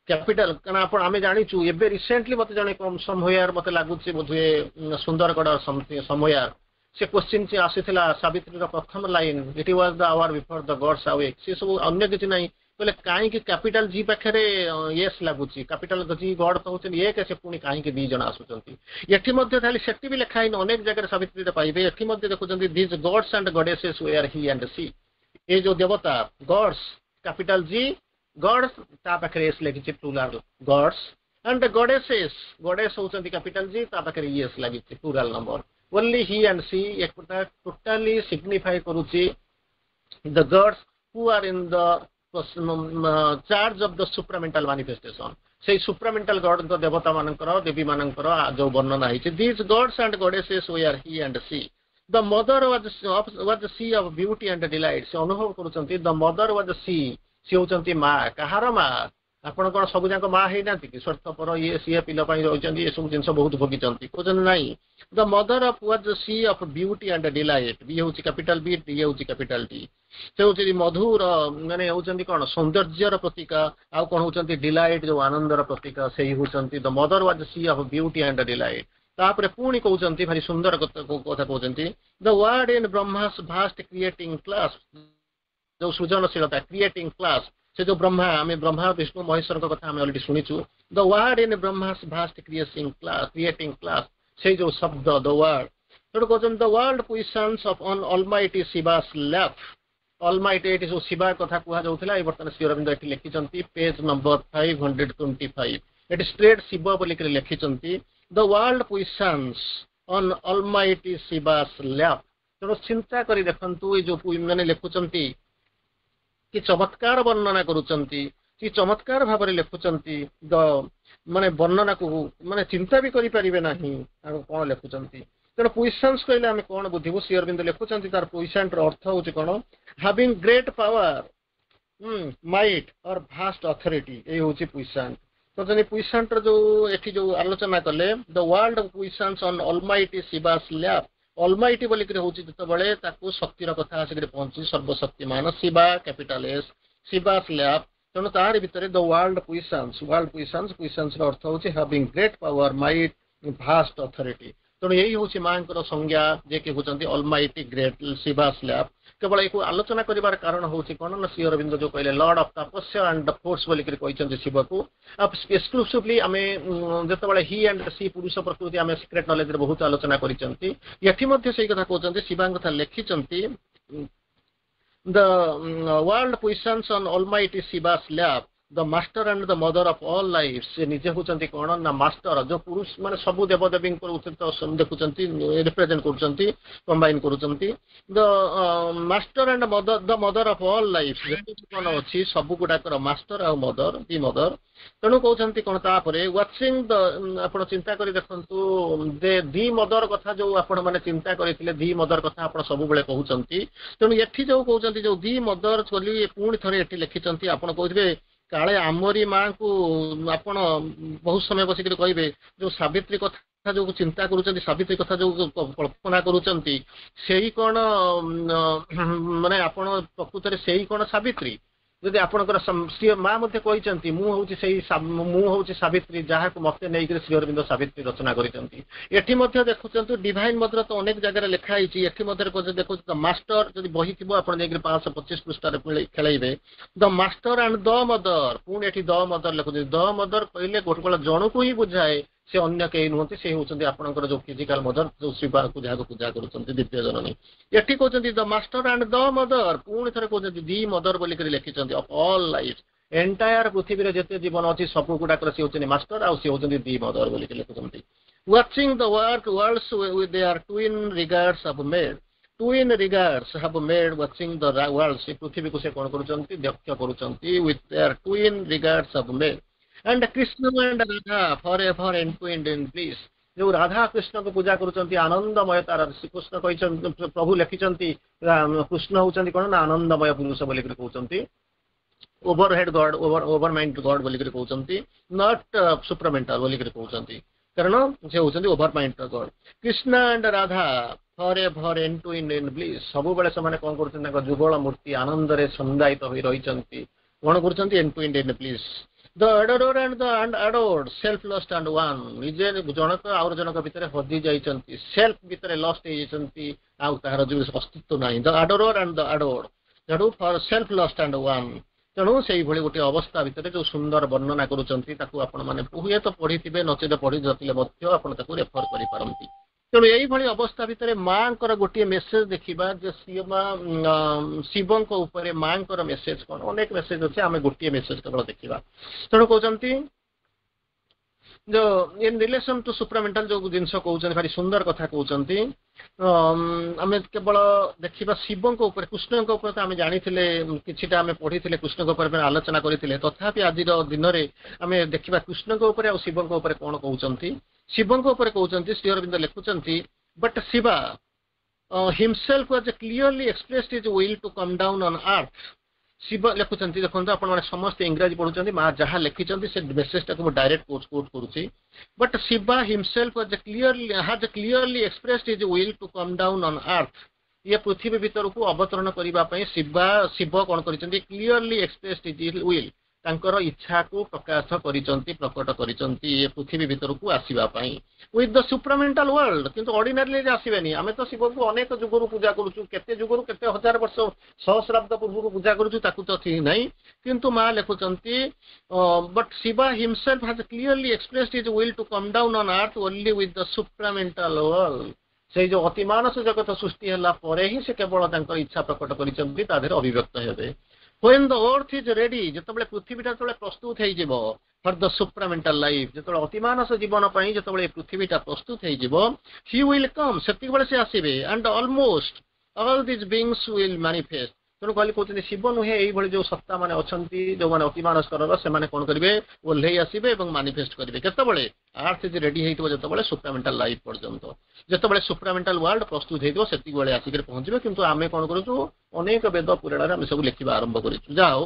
capital କାରଣ ଆପଣ ଆମେ ଜାଣିଛୁ ଏବେ ରିସେଣ୍ଟଲି ମତେ ଜଣେ ସମହୟାର ମତେ ଲାଗୁଛି ବୋଧହୁଏ ସୁନ୍ଦରଗଡ଼ ସମହୟାର ସେ କୋଶ୍ଚିନ୍ ଆସିଥିଲା ସାବିତ୍ରୀର ପ୍ରଥମ line It was the hour before the gods awake ସେ ସବୁ ଅନ୍ୟ କିଛି ନାହିଁ କହିଲେ କାହିଁକି କ୍ୟାପିଟାଲ ଜି ପାଖରେ ଏସ୍ ଲାଗୁଛି କ୍ୟାପିଟାଲ ଜି ଗଡ୍ କହୁଛନ୍ତି ଏକ ସେ ପୁଣି କାହିଁକି ଦି ଜଣ ଆସୁଛନ୍ତି ଏଠି ମଧ୍ୟ ଖାଲି ସେଠି ବି ଲେଖା ହେଇନି ଅନେକ ଜାଗାରେ ସାବିତ୍ରୀରେ ପାଇବେ ଏଠି ମଧ୍ୟ ଦେଖୁଛନ୍ତି These gods and goddesses were he and she ଏ ଯୋଉ ଦେବତା ଗଡ୍ସ କ୍ୟାପିଟାଲ ଜି ଗଡ୍ସ ତା ପାଖରେ ଏସ୍ ଲେଖିଛି ପ୍ଲୁରାଲ ଗଡ୍ସ ଆଣ୍ଡ ଗଡେସେସ୍ ଗଡେସ୍ ହଉଛନ୍ତି କ୍ୟାପିଟାଲ ଜି ତା ପାଖରେ ଇଏସ୍ ଲାଗିଛି plural number only he and she ଏକଟା ଟୋଟାଲି ସିଗ୍ନିଫାଏ କରୁଛି the gods who are in the charge of the supramental manifestation ସେଇ ସୁପ୍ରାମେଣ୍ଟାଲ ଗଡଙ୍କ ଦେବତା ମାନଙ୍କର ଦେବୀ ମାନଙ୍କର ଯୋଉ ବର୍ଣ୍ଣନା ହେଇଛି These gods and goddesses were he and she the mother was was she of beauty and delight ସେ ଅନୁଭବ କରୁଛନ୍ତି the mother was she ସିଏ ହଉଛନ୍ତି ମା କାହାର ମା ଆପଣ କଣ ସବୁ ଯାକ ମା ହେଇନାହାନ୍ତି କି ସ୍ୱାର୍ଥପର ଇଏ ସିଏ ପିଲା ପାଇଁ ରହିଛନ୍ତି ଏସବୁ ଜିନିଷ ବହୁତ ଭୋଗିଛନ୍ତି କହୁଛନ୍ତି ନାଇଁ the mother of was she of beauty and delight ବି ହଉଛି କ୍ୟାପିଟାଲ ବି ଡି ହଉଛି କ୍ୟାପିଟାଲ ଡି ସେ ହଉଛନ୍ତି ମଧୁର ମାନେ ହଉଛନ୍ତି କଣ ସୌନ୍ଦର୍ଯ୍ୟର ପ୍ରତୀକ ଆଉ କଣ ହଉଛନ୍ତି ଡିଲାଇଟ୍ ଯୋଉ ଆନନ୍ଦର ପ୍ରତୀକ ସେଇ ହଉଛନ୍ତି the mother was she of beauty and delight ତାପରେ ପୁଣି କହୁଛନ୍ତି ଭାରି ସୁନ୍ଦର କଥା କହୁଛନ୍ତି the word in Brahma's vast creating clasp ଯୋଉ ସୃଜନଶୀଳତା କ୍ରିଏଟିଂ କ୍ଲାସ୍ପ ସେ ଯୋଉ ବ୍ରହ୍ମା ଆମେ ବ୍ରହ୍ମା ବିଷ୍ଣୁ ମହେଶ୍ୱରଙ୍କ କଥା ଆମେ ଅଲରେଡି ଶୁଣିଛୁ the word in Brahma's vast creating clasp creating clasp ସେଇ ଯୋଉ ଶବ୍ଦ ଦ ୱାର୍ଡ ସେଠୁ କହୁଛନ୍ତି the world puissance of on Almighty Shiva's lap Almighty ଏଠି ଯୋଉ ଶିବା କଥା କୁହାଯାଉଥିଲା ଏଇ ବର୍ତ୍ତମାନ ଶ୍ରୀ ଅରବିନ୍ଦ ଏଠି ଲେଖିଛନ୍ତି page number five hundred twenty five ଏଠି ଷ୍ଟ୍ରେଟ୍ ଶିବ ବୋଲିକରି ଲେଖିଛନ୍ତି the world puissance on Almighty Shiva's lap ତେଣୁ ଚିନ୍ତା କରି ଦେଖନ୍ତୁ ଏଇ ଯୋଉ ମାନେ ଲେଖୁଛନ୍ତି କି ଚମତ୍କାର ବର୍ଣ୍ଣନା କରୁଛନ୍ତି କି ଚମତ୍କାର ଭାବରେ ଲେଖୁଛନ୍ତି ଦ ମାନେ ବର୍ଣ୍ଣନାକୁ ମାନେ ଚିନ୍ତା ବି କରିପାରିବେ ନାହିଁ ଆଉ କଣ ଲେଖୁଛନ୍ତି ତେଣୁ ପୁଇସାନ୍ସ କହିଲେ ଆମେ କଣ ବୁଝିବୁ ଶ୍ରୀ ଅରବିନ୍ଦ ଲେଖୁଛନ୍ତି ତାର ପୁଇସାଣ୍ଟର ଅର୍ଥ ହଉଛି କଣ having great power might or vast authority ଏଇ ହଉଛି ପୁଇସାଣ୍ଟ ତ ଯଦି ପୁଇସାଣ୍ଟର ଯୋଉ ଏଠି ଯୋଉ ଆଲୋଚନା କଲେ the world puissance on Almighty Shiva's lap Almighty ବୋଲିକିରି ହଉଛି ଯେତେବେଳେ ତାକୁ ଶକ୍ତିର କଥା ଆସିକରି ପହଞ୍ଚୁଛି ସର୍ବଶକ୍ତିମାନ ଶିବା କ୍ୟାପିଟାଲ ଏସ୍ ଶିବାସ୍ ଲ୍ୟାପ୍ ତେଣୁ ତାରି ଭିତରେ the world puissance world puissance ପୁଇସାନ୍ସର ଅର୍ଥ ହଉଛି having great power might vast authority ତେଣୁ ଏଇ ହଉଛି ମାଙ୍କର ସଂଜ୍ଞା ଯିଏକି ହଉଛନ୍ତି ଅଲମାଇଟି ଗ୍ରେଟ୍ ଶିବାସ୍ ଲ୍ୟାପ୍ କେବଳ ଏକୁ ଆଲୋଚନା କରିବାର କାରଣ ହଉଛି କଣ ନା ଶ୍ରୀ ଅରବିନ୍ଦ ଯୋଉ କହିଲେ ଲର୍ଡ ଅଫ ତପସ୍ୟା ଆଣ୍ଡ ଫୋର୍ସ ବୋଲିକିରି କହିଛନ୍ତି ଶିବକୁ ଏକ୍ସକ୍ଲୁସିଭଲି ଆମେ ଯେତେବେଳେ ହି ଆଣ୍ଡ ସି ପୁରୁଷ ପ୍ରକୃତି ଆମେ ସିକ୍ରେଟ ନଲେଜରେ ବହୁତ ଆଲୋଚନା କରିଛନ୍ତି ଏଠି ମଧ୍ୟ ସେଇ କଥା କହୁଛନ୍ତି ଶିବାଙ୍କ କଥା ଲେଖିଛନ୍ତି the world puissance on Almighty Shiva's lap the master and the mother of all life ସେ ନିଜେ ହଉଛନ୍ତି କଣ ନା ମାଷ୍ଟର ଯୋଉ ପୁରୁଷ ମାନେ ସବୁ ଦେବଦେବୀଙ୍କର ଦେଖୁଛନ୍ତି ରିପ୍ରେଜେଣ୍ଟ କରୁଛନ୍ତି କମ୍ବାଇନ କରୁଛନ୍ତି the master and mother the mother of all life ଯେତିକି କଣ ଅଛି ସବୁ ଗୁଡାକର ମାଷ୍ଟର ଆଉ ମଦର ଦି ମଦର ତେଣୁ କହୁଛନ୍ତି କଣ ତାପରେ ୱାଚିଂ ଦ ଆପଣ ଚିନ୍ତା କରି ଦେଖନ୍ତୁ ଯେ ଦି ମଦର କଥା ଯୋଉ ଆପଣ ମାନେ ଚିନ୍ତା କରିଥିଲେ ଦି ମଦର କଥା ଆପଣ ସବୁବେଳେ କହୁଛନ୍ତି ତେଣୁ ଏଠି ଯୋଉ କହୁଛନ୍ତି ଯୋଉ ଦି ମଦର ବୋଲି ପୁଣି ଥରେ ଏଠି ଲେଖିଛନ୍ତି ଆପଣ କହୁଥିବେ କାଳେ ଆମରି ମାଙ୍କୁ ଆପଣ ବହୁତ ସମୟ ବସିକରି କହିବେ ଯୋଉ ସାବିତ୍ରୀ କଥା ଯୋଉ ଚିନ୍ତା କରୁଛନ୍ତି ସାବିତ୍ରୀ କଥା ଯୋଉ କଳ୍ପନା କରୁଛନ୍ତି ସେଇ କଣ ମାନେ ଆପଣ ପ୍ରକୃତରେ ସେଇ କଣ ସାବିତ୍ରୀ ଯଦି ଆପଣଙ୍କର ସିଏ ମା ମଧ୍ୟ କହିଛନ୍ତି ମୁଁ ହଉଛି ସେଇ ମୁଁ ହଉଛି ସାବିତ୍ରୀ ଯାହାକୁ ମତେ ନେଇକରି ଶ୍ରୀ ଅରବିନ୍ଦ ସାବିତ୍ରୀ ରଚନା କରିଛନ୍ତି ଏଠି ମଧ୍ୟ ଦେଖୁଛନ୍ତି ଡିଭାଇନ ମଦର ତ ଅନେକ ଜାଗାରେ ଲେଖା ହେଇଛି ଏଠି ମଧ୍ୟ ଦେଖୁଛନ୍ତି ମାଷ୍ଟର ଯଦି ବହି ଥିବ ଆପଣ ଯାଇକରି ପାଞ୍ଚଶହ ପଚିଶ ପୃଷ୍ଠାରେ ଖେଳେଇବେ the master and the mother ପୁଣି ଏଠି ଦ ମଦର ଲେଖୁଛନ୍ତି ଦ ମଦର କହିଲେ ଗୋଟେ ଜଣକୁ ହିଁ ବୁଝାଏ ସେ ଅନ୍ୟ କେହି ନୁହନ୍ତି ସେ ହଉଛନ୍ତି ଆପଣଙ୍କର ଯୋଉ ଫିଜିକାଲ ମଦର ଯୋଉ ଶିବାକୁ ଯାହାକୁ ପୂଜା କରୁଛନ୍ତି ଦିବ୍ୟ ଜନନୀ ଏଠି କହୁଛନ୍ତି the master and the mother ପୁଣି ଥରେ କହୁଛନ୍ତି ଦି ମଦର ବୋଲିକରି ଲେଖିଛନ୍ତି ଅଫ୍ ଅଲ୍ ଲାଇଫ ଏଣ୍ଟାୟାର ପୃଥିବୀରେ ଯେତେ ଜୀବନ ଅଛି ସବୁ ଗୁଡାକର ସେ ହଉଛନ୍ତି ମାଷ୍ଟର ଆଉ ସେ ହଉଛନ୍ତି ଦି ମଦର ବୋଲିକି ଲେଖୁଛନ୍ତି watching the work worlds with their twin regards have made twin regards have made watching the world ସେ ପୃଥିବୀକୁ ସେ କଣ କରୁଛନ୍ତି ଲକ୍ଷ୍ୟ କରୁଛନ୍ତି with their twin regards have made and Krishna and Radha forever entwined in bliss ଯୋଉ ରାଧା କୃଷ୍ଣଙ୍କୁ ପୂଜା କରୁଛନ୍ତି ଆନନ୍ଦମୟ ତାର ଶ୍ରୀକୃଷ୍ଣ କହିଛନ୍ତି ପ୍ରଭୁ ଲେଖିଛନ୍ତି କୃଷ୍ଣ ହଉଛନ୍ତି କଣ ନା ଆନନ୍ଦମୟ ପୁରୁଷ ବୋଲିକରି କହୁଛନ୍ତି overhead God over over mind God ବୋଲିକରି କହୁଛନ୍ତି not ସୁପ୍ରାମେଣ୍ଟାଲ ବୋଲିକରି କହୁଛନ୍ତି କାରଣ ସେ ହଉଛନ୍ତି over mind God Krishna and Radha forever entwined in bliss ସବୁବେଳେ ସେମାନେ କଣ କରୁଛନ୍ତି ତାଙ୍କ ଯୁଗଳ ମୂର୍ତ୍ତି ଆନନ୍ଦରେ ଛନ୍ଦାୟିତ ହୋଇ ରହିଛନ୍ତି କଣ କରୁଛନ୍ତି entwined in bliss the adorer and the and adored self lost and one ନିଜେ ଜଣକ ଆଉ ଜଣକ ଭିତରେ ହଜି ଯାଇଛନ୍ତି ସେଲ୍ଫ ଭିତରେ ଲଷ୍ଟ ହେଇଯାଇଛନ୍ତି ଆଉ ତାହାର ଯୋଉ ଅସ୍ତିତ୍ୱ ନାହିଁ the adorer and the adored ତେଣୁ for self lost and one ତେଣୁ ସେଇଭଳି ଗୋଟିଏ ଅବସ୍ଥା ଭିତରେ ଯୋଉ ସୁନ୍ଦର ବର୍ଣ୍ଣନା କରୁଛନ୍ତି ତାକୁ ଆପଣମାନେ ହୁଏତ ପଢିଥିବେ ନଚେତ ପଢି ନଥିଲେ ମଧ୍ୟ ଆପଣ ତାକୁ ରେଫର କରିପାରନ୍ତି ତେଣୁ ଏଇଭଳି ଅବସ୍ଥା ଭିତରେ ମାଙ୍କର ଗୋଟିଏ ମେସେଜ ଦେଖିବା ଯେ ସିଏ ମା ଶିବଙ୍କ ଉପରେ ମାଙ୍କର ମେସେଜ କଣ ଅନେକ ମେସେଜ ଅଛି ଆମେ ଗୋଟିଏ ମେସେଜ କେବଳ ଦେଖିବା ତେଣୁ କହୁଛନ୍ତି ଯୋଉ ଇନ୍ ରିଲେସନ ଟୁ ସୁପ୍ରାମେଣ୍ଟାଲ ଯୋଉ ଜିନିଷ କହୁଛନ୍ତି ଭାରି ସୁନ୍ଦର କଥା କହୁଛନ୍ତି ଆମେ କେବଳ ଦେଖିବା ଶିବଙ୍କ ଉପରେ କୃଷ୍ଣଙ୍କ ଉପରେ ତ ଆମେ ଜାଣିଥିଲେ କିଛିଟା ଆମେ ପଢିଥିଲେ କୃଷ୍ଣଙ୍କ ଉପରେ ଆଲୋଚନା କରିଥିଲେ ତଥାପି ଆଜିର ଦିନରେ ଆମେ ଦେଖିବା କୃଷ୍ଣଙ୍କ ଉପରେ ଆଉ ଶିବଙ୍କ ଉପରେ କଣ କହୁଛନ୍ତି ଶିବଙ୍କ ଉପରେ କହୁଛନ୍ତି ଶ୍ରୀ ଅରବିନ୍ଦ ଲେଖୁଛନ୍ତି But Shiva himself was clearly expressed his will to come down on earth Shiva ଲେଖୁଛନ୍ତି ଦେଖନ୍ତୁ ଆପଣମାନେ ସମସ୍ତେ ଇଂରାଜୀ ପଢୁଛନ୍ତି ମା ଯାହା ଲେଖିଛନ୍ତି ସେ ମେସେଜଟାକୁ ମୁଁ ଡାଇରେକ୍ଟ କୋଟ୍ କୋଟ୍ କରୁଛି But Shiva himself was clearly has clearly expressed his will to come down on earth ଇଏ ପୃଥିବୀ ଭିତରକୁ ଅବତରଣ କରିବା ପାଇଁ ଶିବା ଶିବ କଣ କରିଛନ୍ତି କ୍ଲିୟରଲି ଏକ୍ସପ୍ରେସ୍ଡ his will ତାଙ୍କର ଇଚ୍ଛାକୁ ପ୍ରକାଶ କରିଛନ୍ତି ପ୍ରକଟ କରିଛନ୍ତି ଏ ପୃଥିବୀ ଭିତରକୁ ଆସିବା ପାଇଁ ୱିଥ୍ the ସୁପ୍ରାମେଣ୍ଟାଲ ୱାର୍ଲଡ କିନ୍ତୁ ଅର୍ଡିନାରିଲି ଆସିବେନି ଆମେ ତ ଶିବଙ୍କୁ ଅନେକ ଯୁଗରୁ ପୂଜା କରୁଛୁ କେତେ ଯୁଗରୁ କେତେ ହଜାର ବର୍ଷ ସହସ୍ରାବ୍ଦ ପୂର୍ବରୁ ପୂଜା କରୁଛୁ ତାକୁ ତ ଠିକ ନାହିଁ କିନ୍ତୁ ମା ଲେଖୁଛନ୍ତି But Shiva himself has clearly expressed his will to come down on earth only with the supramental world ସେଇ ଯୋଉ ଅତିମାନସ ଜଗତ ସୃଷ୍ଟି ହେଲା ପରେ ହିଁ ସେ କେବଳ ତାଙ୍କର ଇଚ୍ଛା ପ୍ରକଟ କରିଛନ୍ତି ତା ଦେହରେ ଅଭିବ୍ୟକ୍ତ ହେବେ when the earth is ready ଯେତେବେଳେ ପୃଥିବୀଟା ଯେତେବେଳେ ପ୍ରସ୍ତୁତ ହେଇଯିବ ଫର ଦ ସୁପ୍ରାମେଣ୍ଟାଲ ଲାଇଫ ଯେତେବେଳେ ଅତିମାନସ ଜୀବନ ପାଇଁ ଯେତେବେଳେ ପୃଥିବୀଟା ପ୍ରସ୍ତୁତ ହେଇଯିବ he will come ସେତିକିବେଳେ ସେ ଆସିବେ and almost all these beings will manifest ତେଣୁ କହିଲେ କହୁଛନ୍ତି ଶିବ ନୁହେଁ ଏଇଭଳି ଯୋଉ ସତ୍ତା ମାନେ ଅଛନ୍ତି ଯୋଉମାନେ ଅତିମାନସ ସ୍ତରର ସେମାନେ କଣ କରିବେ ଓହ୍ଲେଇ ଆସିବେ ଏବଂ ମାନିଫେଷ୍ଟ କରିବେ କେତେବେଳେ ଆର୍ଥ is ready ହେଇଥିବ ଯେତେବେଳେ ସୁପ୍ରାମେଣ୍ଟାଲ ଲାଇଫ ପର୍ଯ୍ୟନ୍ତ ଯେତେବେଳେ ସୁପ୍ରାମେଣ୍ଟାଲ ୱାର୍ଲଡ ପ୍ରସ୍ତୁତ ହେଇଥିବ ସେତିକି ଆସିକରି ପହଞ୍ଚିବେ କିନ୍ତୁ ଆମେ କଣ କରୁଛୁ ଅନେକ ବେଦ ପୁରାଣରେ ଆମେ ସବୁ ଲେଖିବା ଆରମ୍ଭ କରିଛୁ ଯାହା ହଉ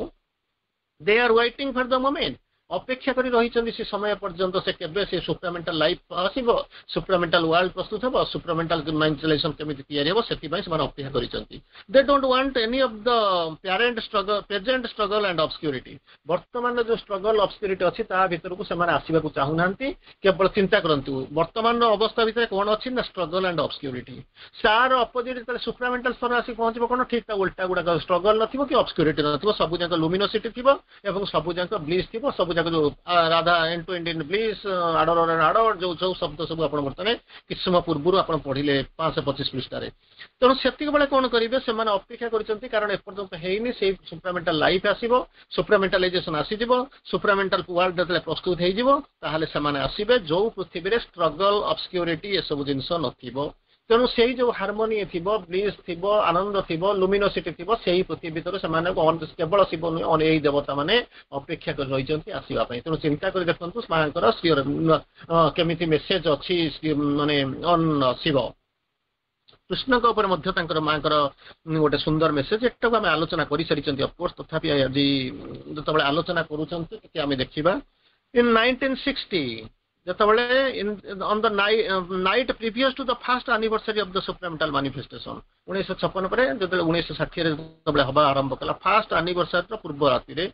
they are waiting for the moment ଅପେକ୍ଷା କରି ରହିଛନ୍ତି ସେ ସମୟ ପର୍ଯ୍ୟନ୍ତ ସେ କେବେ ସେ ସୁପ୍ରାମେଣ୍ଟାଲ ଲାଇଫ ଆସିବ ସୁପ୍ରାମେଣ୍ଟାଲ ୱାର୍ଲଡ ପ୍ରସ୍ତୁତ ହେବ ସୁପ୍ରାମେଣ୍ଟାଲ ମେଣ୍ଟାଲାଇଜେସନ କେମିତି ତିଆରି ହେବ ସେଥିପାଇଁ ସେମାନେ ଅପେକ୍ଷା କରିଛନ୍ତି They don't want any of the parent struggle present struggle and obscurity ବର୍ତ୍ତମାନର ଯୋଉ ଷ୍ଟ୍ରଗଲ ଅବସ୍କ୍ୟୁରିଟି ଅଛି ତା ଭିତରକୁ ସେମାନେ ଆସିବାକୁ ଚାହୁଁନାହାନ୍ତି କେବଳ ଚିନ୍ତା କରନ୍ତୁ ବର୍ତ୍ତମାନର ଅବସ୍ଥା ଭିତରେ କଣ ଅଛି ନା ଷ୍ଟ୍ରଗଲ ଆଣ୍ଡ ଅବସ୍କ୍ୟୁରିଟି ତାର ଅପୋଜିଟ୍ ଯେତେବେଳେ ସୁପ୍ରାମେଣ୍ଟାଲ ସ୍ତର ଆସିକି ପହଞ୍ଚିବ କଣ ଠିକ ତା ଉଲ୍ଟା ଗୁଡାକ ଷ୍ଟ୍ରଗଲ ନଥିବ କି ଅବସ୍କ୍ୟୁରିଟି ନଥିବ ସବୁ ଯାକ ଲୁମିନୋସିଟି ଥିବ ଏବଂ ସବୁ ଯାକ ବ୍ଲିସ୍ ଥିବ ସବୁ ଯାକ ଯୋଉ ରାଧା ଏଣ୍ଟୁଇଣ୍ଡ ଇନ୍ ବ୍ଲିସ୍ ଆଡୋରର ଆଡୋର୍ଡ ଯୋଉ ସବୁ ଶବ୍ଦ ସବୁ ଆପଣ ବର୍ତ୍ତମାନ କିଛି ସମୟ ପୂର୍ବରୁ ଆପଣ ପଢିଲେ ପାଞ୍ଚଶହ ପଚିଶ ପୃଷ୍ଠାରେ ତେଣୁ ସେତିକି ବେଳେ କଣ କରିବେ ସେମାନେ ଅପେକ୍ଷା କରିଛନ୍ତି କାରଣ ଏପର୍ଯ୍ୟନ୍ତ ହେଇନି ସେଇ ସୁପ୍ରାମେଣ୍ଟାଲ ଲାଇଫ ଆସିବ ସୁପ୍ରାମେଣ୍ଟାଲାଇଜେସନ ଆସିଯିବ ସୁପ୍ରାମେଣ୍ଟାଲ ୱାର୍ଲଡ ଯେତେବେଳେ ପ୍ରସ୍ତୁତ ହେଇଯିବ ତାହେଲେ ସେମାନେ ଆସିବେ ଯୋଉ ପୃଥିବୀରେ ଷ୍ଟ୍ରଗଲ ଅବସ୍କ୍ୟୁରିଟି ଏସବୁ ଜିନିଷ ନଥିବ ତେଣୁ ସେଇ ଯୋଉ ହାରମୋନି ଥିବ ବ୍ଲିସ୍ ଥିବ ଆନନ୍ଦ ଥିବ ଲୁମିନୋସିଟି ଥିବ ସେଇ ପୃଥିବୀ ଭିତରେ ସେମାନେ କେବଳ ଶିବ ନୁହେଁ ଏଇ ଦେବତା ମାନେ ଅପେକ୍ଷା କରି ରହିଛନ୍ତି ଆସିବା ପାଇଁ ତେଣୁ ଚିନ୍ତା କରି ଦେଖନ୍ତୁ ମାଙ୍କର ଶ୍ରୀ କେମିତି ମେସେଜ ଅଛି ମାନେ ଅନ୍ ଶିବ କୃଷ୍ଣଙ୍କ ଉପରେ ମଧ୍ୟ ତାଙ୍କର ମାଙ୍କର ଗୋଟେ ସୁନ୍ଦର ମେସେଜ ଏଟାକୁ ଆମେ ଆଲୋଚନା କରିସାରିଛନ୍ତି ଅଫକୋର୍ସ ତଥାପି ଆଜି ଯେତେବେଳେ ଆଲୋଚନା କରୁଛନ୍ତି ଟିକେ ଆମେ ଦେଖିବା ଇନ୍ ନାଇନଟିନ୍ ସିକ୍ସଟି ଯେତେବେଳେ on the night previous to the first anniversary of the supramental manifestation ଉଣେଇଶହ ଛପନ ପରେ ଯେତେବେଳେ ଉଣେଇଶହ ଷାଠିଏରେ ଯେତେବେଳେ ହବା ଆରମ୍ଭ କଲା ଫାଷ୍ଟ ଆନିଭର୍ସାରୀର ପୂର୍ବ ରାତିରେ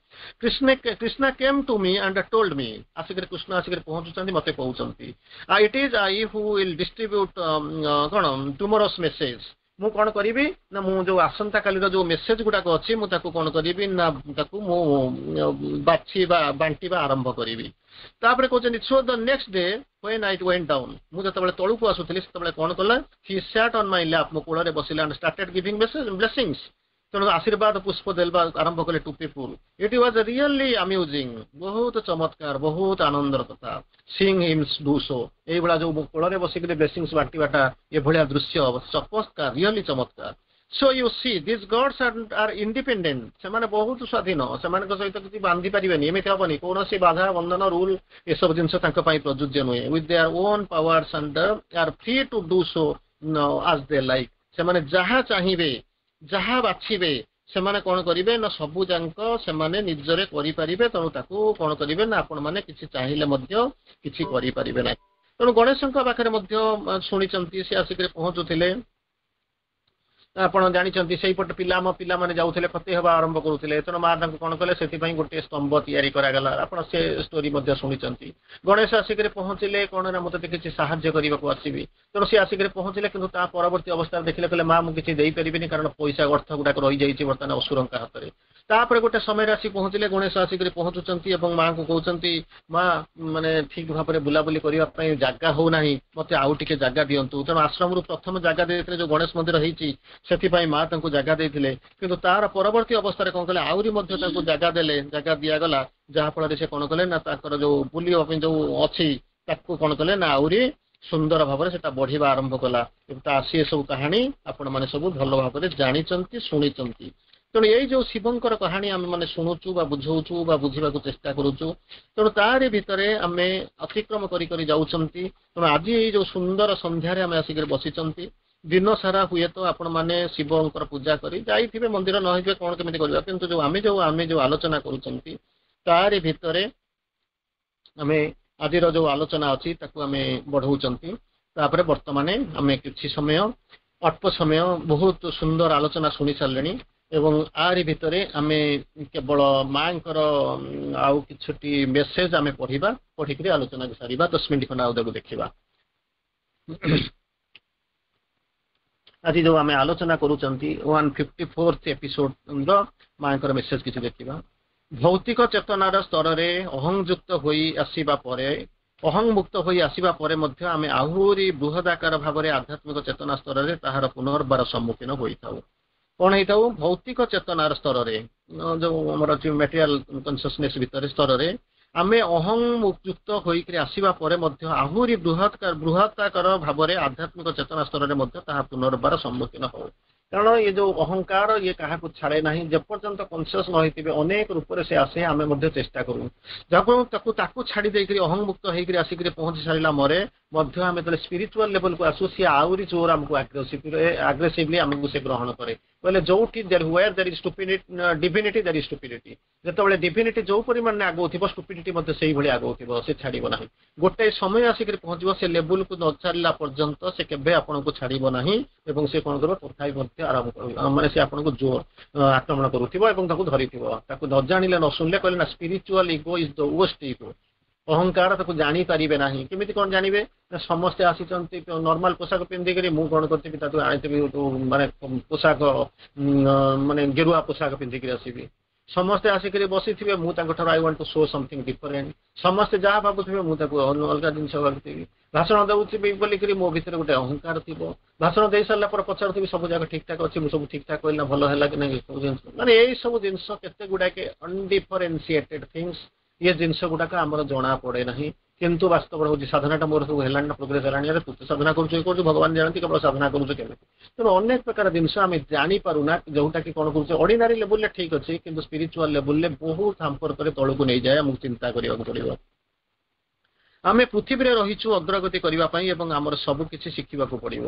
Krishna Krishna came to me and told me ଆସିକରି କୃଷ୍ଣ ଆସିକରି ପହଞ୍ଚୁଛନ୍ତି ମତେ କହୁଛନ୍ତି It is I who will distribute କଣ tomorrow's message ମୁଁ କଣ କରିବି ନା ମୁଁ ଯୋଉ ଆସନ୍ତାକାଲିର ଯୋଉ ମେସେଜ ଗୁଡାକ ଅଛି ମୁଁ ତାକୁ କଣ କରିବି ନା ତାକୁ ମୁଁ ବାଛିବା ବାଣ୍ଟିବା ଆରମ୍ଭ କରିବି ତାପରେ କହୁଛନ୍ତି So the next day when I went down ମୁଁ ଯେତେବେଳେ ତଳକୁ ଆସୁଥିଲି ସେତେବେଳେ କଣ କଲା he sat on my lap ମୋ କୋଳରେ ବସିଲା and started giving message blessings ତେଣୁ ଆଶୀର୍ବାଦ ପୁଷ୍ପ ଦେବା ଆରମ୍ଭ କଲେ to people. It was really amusing, ବହୁତ ଚମତ୍କାର, ବହୁତ ଆନନ୍ଦର କଥା, seeing him do so. ଏଇଭଳିଆ ଯୋଉ କୋଳରେ ବସିକିରି ବ୍ଲେସିଂସ୍ ବାଣ୍ଟିବାଟା, ଏଭଳିଆ ଦୃଶ୍ୟ ଚମତ୍କାର, ରିଅଲି ଚମତ୍କାର। So you see, these gods are independent. ସେମାନେ ବହୁତ ସ୍ୱାଧୀନ। ସେମାନଙ୍କ ସହିତ କିଛି ବାନ୍ଧି ପାରିବେନି, ଏମିତି ହବନି। କୌଣସି ବାଧା ବନ୍ଧନ, ରୁଲ, ଏସବୁ ଜିନିଷ ତାଙ୍କ ପାଇଁ ପ୍ରଯୁଜ୍ୟ ନୁହେଁ। With their own powers and are free to do so as they like. ସେମାନେ ଯାହା ଚାହିଁବେ, ଯାହା ବାଛିବେ, ସେମାନେ କଣ କରିବେ ନା ସବୁ ଯାକ ସେମାନେ ନିଜରେ କରିପାରିବେ। ତେଣୁ ତାକୁ କଣ କରିବେ ନା ଆପଣମାନେ କିଛି ଚାହିଁଲେ ମଧ୍ୟ କିଛି କରିପାରିବେ ନାହିଁ। ତେଣୁ ଗଣେଶଙ୍କ ପାଖରେ ମଧ୍ୟ ଶୁଣିଛନ୍ତି, ସେ ଆସିକରି ପହଞ୍ଚୁଥିଲେ। ଆପଣ ଜାଣିଛନ୍ତି, ସେଇପଟେ ପିଲା, ଆମ ପିଲାମାନେ ଯାଉଥିଲେ, କ୍ଷତି ହେବା ଆରମ୍ଭ କରୁଥିଲେ। ତେଣୁ ମା ତାଙ୍କୁ କଣ କଲେ? ସେଥିପାଇଁ ଗୋଟିଏ ସ୍ତମ୍ଭ ତିଆରି କରାଗଲା। ଆପଣ ସେ ଷ୍ଟୋରି ମଧ୍ୟ ଶୁଣିଛନ୍ତି। ଗଣେଶ ଆସିକରି ପହଞ୍ଚିଲେ କଣ ନା ମୁଁ ତତେ କିଛି ସାହାଯ୍ୟ କରିବାକୁ ଆସିବି। ତେଣୁ ସେ ଆସିକରି ପହଞ୍ଚିଲେ, କିନ୍ତୁ ତା ପରବର୍ତ୍ତୀ ଅବସ୍ଥାରେ ଦେଖିଲେ, କହିଲେ, ମା, ମୁଁ କିଛି ଦେଇପାରିବିନି, କାରଣ ପଇସା ଅର୍ଥ ଗୁଡାକ ରହିଯାଇଛି ବର୍ତ୍ତମାନ ଅସୁରଙ୍କ ହାତରେ। ତାପରେ ଗୋଟେ ସମୟରେ ଆସି ପହଞ୍ଚିଲେ, ଗଣେଶ ଆସିକରି ପହଞ୍ଚୁଛନ୍ତି ଏବଂ ମାଙ୍କୁ କହୁଛନ୍ତି, ମା, ମାନେ ଠିକ ଭାବରେ ବୁଲାବୁଲି କରିବା ପାଇଁ ଜାଗା ହଉନାହିଁ, ମତେ ଆଉ ଟିକେ ଜାଗା ଦିଅନ୍ତୁ। ତେଣୁ ଆଶ୍ରମରୁ ପ୍ରଥମ ଜାଗା ଦେଇଥିଲେ, ଯୋଉ ଗଣେଶ ମନ୍ଦିର ହେଇଛି, ସେଥିପାଇଁ ମା ତାଙ୍କୁ ଜାଗା ଦେଇଥିଲେ। କିନ୍ତୁ ତାର ପରବର୍ତ୍ତୀ ଅବସ୍ଥାରେ କଣ କଲେ? ଆହୁରି ମଧ୍ୟ ତାଙ୍କୁ ଜାଗା ଦେଲେ, ଜାଗା ଦିଆଗଲା, ଯାହା ଫଳରେ ସେ କଣ କଲେ ନା ତାଙ୍କର ଯୋଉ ବୁଲିବା ପାଇଁ ଯୋଉ ଅଛି, ତାକୁ କଣ କଲେ ନା ଆହୁରି ସୁନ୍ଦର ଭାବରେ ସେଟା ବଢିବା ଆରମ୍ଭ କଲା। ତା ସିଏ ସବୁ କାହାଣୀ ଆପଣମାନେ ସବୁ ଭଲ ଭାବରେ ଜାଣିଛନ୍ତି, ଶୁଣିଛନ୍ତି। ତେଣୁ ଏଇ ଯୋଉ ଶିବଙ୍କର କାହାଣୀ ଆମେ ମାନେ ଶୁଣୁଛୁ ବା ବୁଝଉଛୁ ବା ବୁଝିବାକୁ ଚେଷ୍ଟା କରୁଛୁ, ତେଣୁ ତାରି ଭିତରେ ଆମେ ଅତିକ୍ରମ କରି କରି ଯାଉଛନ୍ତି। ତେଣୁ ଆଜି ଏଇ ଯୋଉ ସୁନ୍ଦର ସନ୍ଧ୍ୟାରେ ଆମେ ଆସିକରି ବସିଛନ୍ତି, ଦିନ ସାରା ହୁଏତ ଆପଣମାନେ ଶିବଙ୍କର ପୂଜା କରି ଯାଇଥିବେ ମନ୍ଦିର, ନ ହେଇଥିବେ, କଣ କେମିତି କରିବା। କିନ୍ତୁ ଯୋଉ ଆମେ ଯୋଉ ଆମେ ଯୋଉ ଆଲୋଚନା କରୁଛନ୍ତି, ତାରି ଭିତରେ ଆମେ ଆଜିର ଯୋଉ ଆଲୋଚନା ଅଛି, ତାକୁ ଆମେ ବଢଉଛନ୍ତି। ତାପରେ ବର୍ତ୍ତମାନ ଆମେ କିଛି ସମୟ, ଅଳ୍ପ ସମୟ, ବହୁତ ସୁନ୍ଦର ଆଲୋଚନା ଶୁଣି ସାରିଲେଣି ଏବଂ ଆରି ଭିତରେ ଆମେ କେବଳ ମାଙ୍କର ଆଉ କିଛିଟି ମେସେଜ ଆମେ ପଢିବା, ପଢିକିରି ଆଲୋଚନାକୁ ସାରିବା। ଦଶ ମିନିଟ୍ ଖଣ୍ଡେ ଆଉ ତାକୁ ଦେଖିବା। ଆଜି ଯୋଉ ଆମେ ଆଲୋଚନା କରୁଛନ୍ତି, ୱାନ୍ ଫିଫ୍ଟି ଫୋର୍ଥ ଏପିସୋଡର ମାଙ୍କର ମେସେଜ କିଛି ଦେଖିବା। ଭୌତିକ ଚେତନାର ସ୍ତରରେ ଅହଂଯୁକ୍ତ ହୋଇ ଆସିବା ପରେ, ଅହଂମୁକ୍ତ ହୋଇ ଆସିବା ପରେ ମଧ୍ୟ ଆମେ ଆହୁରି ବୃହଦାକାର ଭାବରେ ଆଧ୍ୟାତ୍ମିକ ଚେତନା ସ୍ତରରେ ତାହାର ପୁନର୍ବାର ସମ୍ମୁଖୀନ ହୋଇଥାଉ। କଣ ହେଇଥାଉ? ଭୌତିକ ଚେତନାର ସ୍ତରରେ, ଯୋଉ ଆମର ଅଛି ମେଟେରିଆଲ କନସିୟସନେସ ଭିତରେ ସ୍ତରରେ ଆମେ ଅହଂଯୁକ୍ତ ହୋଇକରି ଆସିବା ପରେ ମଧ୍ୟ ଆହୁରି ବୃହତ ବୃହତାକାର ଭାବରେ ଆଧ୍ୟାତ୍ମିକ ଚେତନା ସ୍ତରରେ ମଧ୍ୟ ତାହା ପୁନର୍ବାର ସମ୍ମୁଖୀନ ହଉ। କାରଣ ଏ ଯୋଉ ଅହଙ୍କାର, ଇଏ କାହାକୁ ଛାଡେ ନାହିଁ। ଯେପର୍ଯ୍ୟନ୍ତ କନସିୟସ ନ ହେଇଥିବେ, ଅନେକ ରୂପରେ ସେ ଆସେ। ଆମେ ମଧ୍ୟ ଚେଷ୍ଟା କରୁ ଯାହାକୁ ତାକୁ ତାକୁ ଛାଡି ଦେଇକରି ଅହଂମୁକ୍ତ ହେଇକରି ଆସିକରି ପହଞ୍ଚି ସାରିଲା ପରେ ମଧ୍ୟ ଆମେ ଯେତେବେଳେ ସ୍ପିରିଚୁଆଲ ଲେଭେଲକୁ ଆସୁ, ସିଏ ଆହୁରି ଜୋର ଆମକୁ ଆଗ୍ରେସିଭଲି ଆମକୁ ସେ ଗ୍ରହଣ କରେ। କହିଲେ ଯୋଉଠି where there is divinity, there is stupidity. ଯେତେବେଳେ ଡିଭିନିଟି ଯୋଉ ପରିମାଣରେ ଆଗଉଥିବ, ଷ୍ଟୁପିଡିଟି ମଧ୍ୟ ସେଇଭଳି ଆଗଉଥିବ। ସେ ଛାଡିବ ନାହିଁ। ଗୋଟେ ସମୟ ଆସିକରି ପହଞ୍ଚିବ, ସେ ଲେବୁଲକୁ ନ ଛାଡ଼ିଲା ପର୍ଯ୍ୟନ୍ତ ସେ କେବେ ଆପଣଙ୍କୁ ଛାଡିବ ନାହିଁ ଏବଂ ସେ କଣ କରିବ? ତଥାପି ମଧ୍ୟ ଆରମ୍ଭ କରିବ, ମାନେ ସେ ଆପଣଙ୍କୁ ଜୋର ଆକ୍ରମଣ କରୁଥିବ ଏବଂ ତାକୁ ଧରିଥିବ। ତାକୁ ନ ଜାଣିଲେ, ନ ଶୁଣିଲେ, କହିଲେ ନା, spiritual ego is the worst ego. ଅହଙ୍କାର, ତାକୁ ଜାଣିପାରିବେ ନାହିଁ। କେମିତି କଣ ଜାଣିବେ ନା ସମସ୍ତେ ଆସିଛନ୍ତି ନର୍ମାଲ ପୋଷାକ ପିନ୍ଧିକରି, ମୁଁ କଣ କରିଥିବି, ତାକୁ ଆଣିଥିବି ମାନେ ପୋଷାକ, ମାନେ ଗେରୁଆ ପୋଷାକ ପିନ୍ଧିକରି ଆସିବି। ସମସ୍ତେ ଆସିକରି ବସିଥିବେ, ମୁଁ ତାଙ୍କ ଠାରୁ I want to show something different. ସମସ୍ତେ ଯାହା ଭାବୁଥିବେ, ମୁଁ ତାକୁ ଅଲଗା ଜିନିଷ ଭାବୁଥିବି। ଭାଷଣ ଦଉଥିବି ବୋଲିକରି ମୋ ଭିତରେ ଗୋଟେ ଅହଙ୍କାର ଥିବ। ଭାଷଣ ଦେଇ ସାରିଲା ପରେ ପଚାରୁଥିବି, ସବୁ ଜାଗା ଠିକ ଠାକ ଅଛି? ମୁଁ ସବୁ ଠିକ ଠାକ କହିଲି ନା? ଭଲ ହେଲା କି ନାହିଁ? ସବୁ ଜିନିଷ, ମାନେ ଏଇ ସବୁ ଜିନିଷ କେତେ ଗୁଡାକେ ଅନଡିଫରେନ୍ସିଏଟେଡ ଥିଙ୍ଗସ। ଇଏ ଜିନିଷ ଗୁଡାକ ଆମର ଜଣା ପଡେ ନାହିଁ, କିନ୍ତୁ ବାସ୍ତବରେ ହଉଛି ସାଧନାଟା ମୋର ସବୁ ହେଲାଣି ନା, ପ୍ରୋଗ୍ରେସ ହେଲାଣି? ଆରେ, ତୁ ତ ସାଧନା କରୁଛୁ, ଇଏ କରୁଛୁ, ଭଗବାନ ଜାଣନ୍ତି କେବଳ ସାଧନା କରୁଛୁ କେମିତି। ତେଣୁ ଅନେକ ପ୍ରକାର ଜିନିଷ ଆମେ ଜାଣିପାରୁନା, ଯୋଉଟା କି କଣ କରୁଛେ, ଅର୍ଡିନାରୀ ଲେବୁଲରେ ଠିକ ଅଛି, କିନ୍ତୁ ସ୍ପିରିଚୁଆଲ ଲେବୁଲରେ ବହୁତ ହାମ୍ପର କରି ତଳକୁ ନେଇଯାଏ। ଆମକୁ ଚିନ୍ତା କରିବାକୁ ପଡିବ। ଆମେ ପୃଥିବୀରେ ରହିଛୁ ଅଗ୍ରଗତି କରିବା ପାଇଁ ଏବଂ ଆମର ସବୁ କିଛି ଶିଖିବାକୁ ପଡିବ।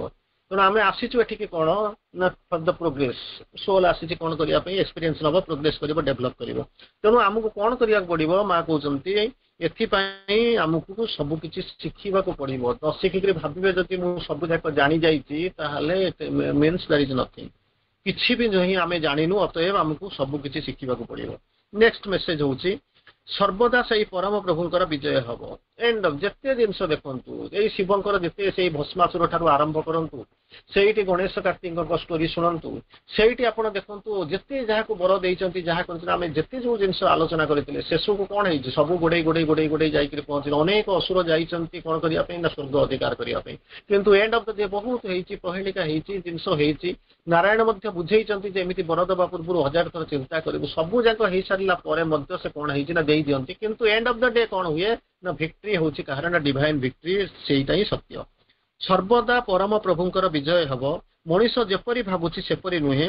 ତେଣୁ ଆମେ ଆସିଛୁ ଏଠିକି କଣ ନା ଫର ଦ ପ୍ରୋଗ୍ରେସ। ସୋଲ ଆସିଛି କଣ କରିବା ପାଇଁ? ଏକ୍ସପିରିଏନ୍ସ ନବ, ପ୍ରୋଗ୍ରେସ କରିବ, ଡେଭଲପ କରିବ। ତେଣୁ ଆମକୁ କଣ କରିବାକୁ ପଡିବ? ମା କହୁଛନ୍ତି, ଏଥିପାଇଁ ଆମକୁ ସବୁ କିଛି ଶିଖିବାକୁ ପଡିବ। ନ ଶିଖିକିରି ଭାବିବେ ଯଦି ମୁଁ ସବୁ ଯାକ ଜାଣି ଯାଇଛି, ତାହେଲେ ମିନ୍ସ there is nothing. କିଛି ବି ନାହିଁ ଆମେ ଜାଣିନୁ। ଅତଏବ ଆମକୁ ସବୁ କିଛି ଶିଖିବାକୁ ପଡିବ। ନେକ୍ସଟ ମେସେଜ ହଉଛି, ସର୍ବଦା ସେଇ ପରମ ପ୍ରଭୁଙ୍କର ବିଜୟ ହବ। ଏଣ୍ଡ ଅଫ୍ ଯେତେ ଜିନିଷ ଦେଖନ୍ତୁ, ଏଇ ଶିବଙ୍କର ଯେତେ ସେଇ ଭସ୍ମାସୁର ଠାରୁ ଆରମ୍ଭ କରନ୍ତୁ, ସେଇଠି ଗଣେଶ କାର୍ତ୍ତିକଙ୍କ ଷ୍ଟୋରି ଶୁଣନ୍ତୁ, ସେଇଠି ଆପଣ ଦେଖନ୍ତୁ ଯେତେ ଯାହାକୁ ବର ଦେଇଛନ୍ତି, ଯାହା କରିଛନ୍ତି, ଆମେ ଯେତେ ଯୋଉ ଜିନିଷ ଆଲୋଚନା କରିଥିଲେ, ଶେଷକୁ କଣ ହେଇଛି? ସବୁ ଗୋଡେଇ ଗୋଡେଇ ଗୋଡେଇ ଗୋଡେଇ ଯାଇକରି ପହଞ୍ଚିଲେ। ଅନେକ ଅସୁର ଯାଇଛନ୍ତି କଣ କରିବା ପାଇଁ ନା ସ୍ୱର୍ଗ ଅଧିକାର କରିବା ପାଇଁ। କିନ୍ତୁ ଏଣ୍ଡ ଅଫ୍ the day ବହୁତ ହେଇଛି, ପ୍ରହେଳିକା ହେଇଛି, ଜିନିଷ ହେଇଛି। ନାରାୟଣ ମଧ୍ୟ ବୁଝେଇଛନ୍ତି ଯେ ଏମିତି ବର ଦେବା ପୂର୍ବରୁ ହଜାର ଥର ଚିନ୍ତା କରିବୁ। ସବୁ ଯାକ ହେଇସାରିଲା ପରେ ମଧ୍ୟ ସେ କଣ ହେଇଛି ନା ଦେଇ ଦିଅନ୍ତି। କିନ୍ତୁ ଏଣ୍ଡ ଅଫ୍ the day କଣ ହୁଏ ନା ଭିକ୍ଟ୍ରି ହଉଛି କାହାର ନା ଡିଭାଇନ ଭିକ୍ଟ୍ରି। ସେଇଟା ହିଁ ସତ୍ୟ। ସର୍ବଦା ପରମ ପ୍ରଭୁଙ୍କର ବିଜୟ ହବ। ମଣିଷ ଯେପରି ଭାବୁଛି ସେପରି ନୁହେଁ।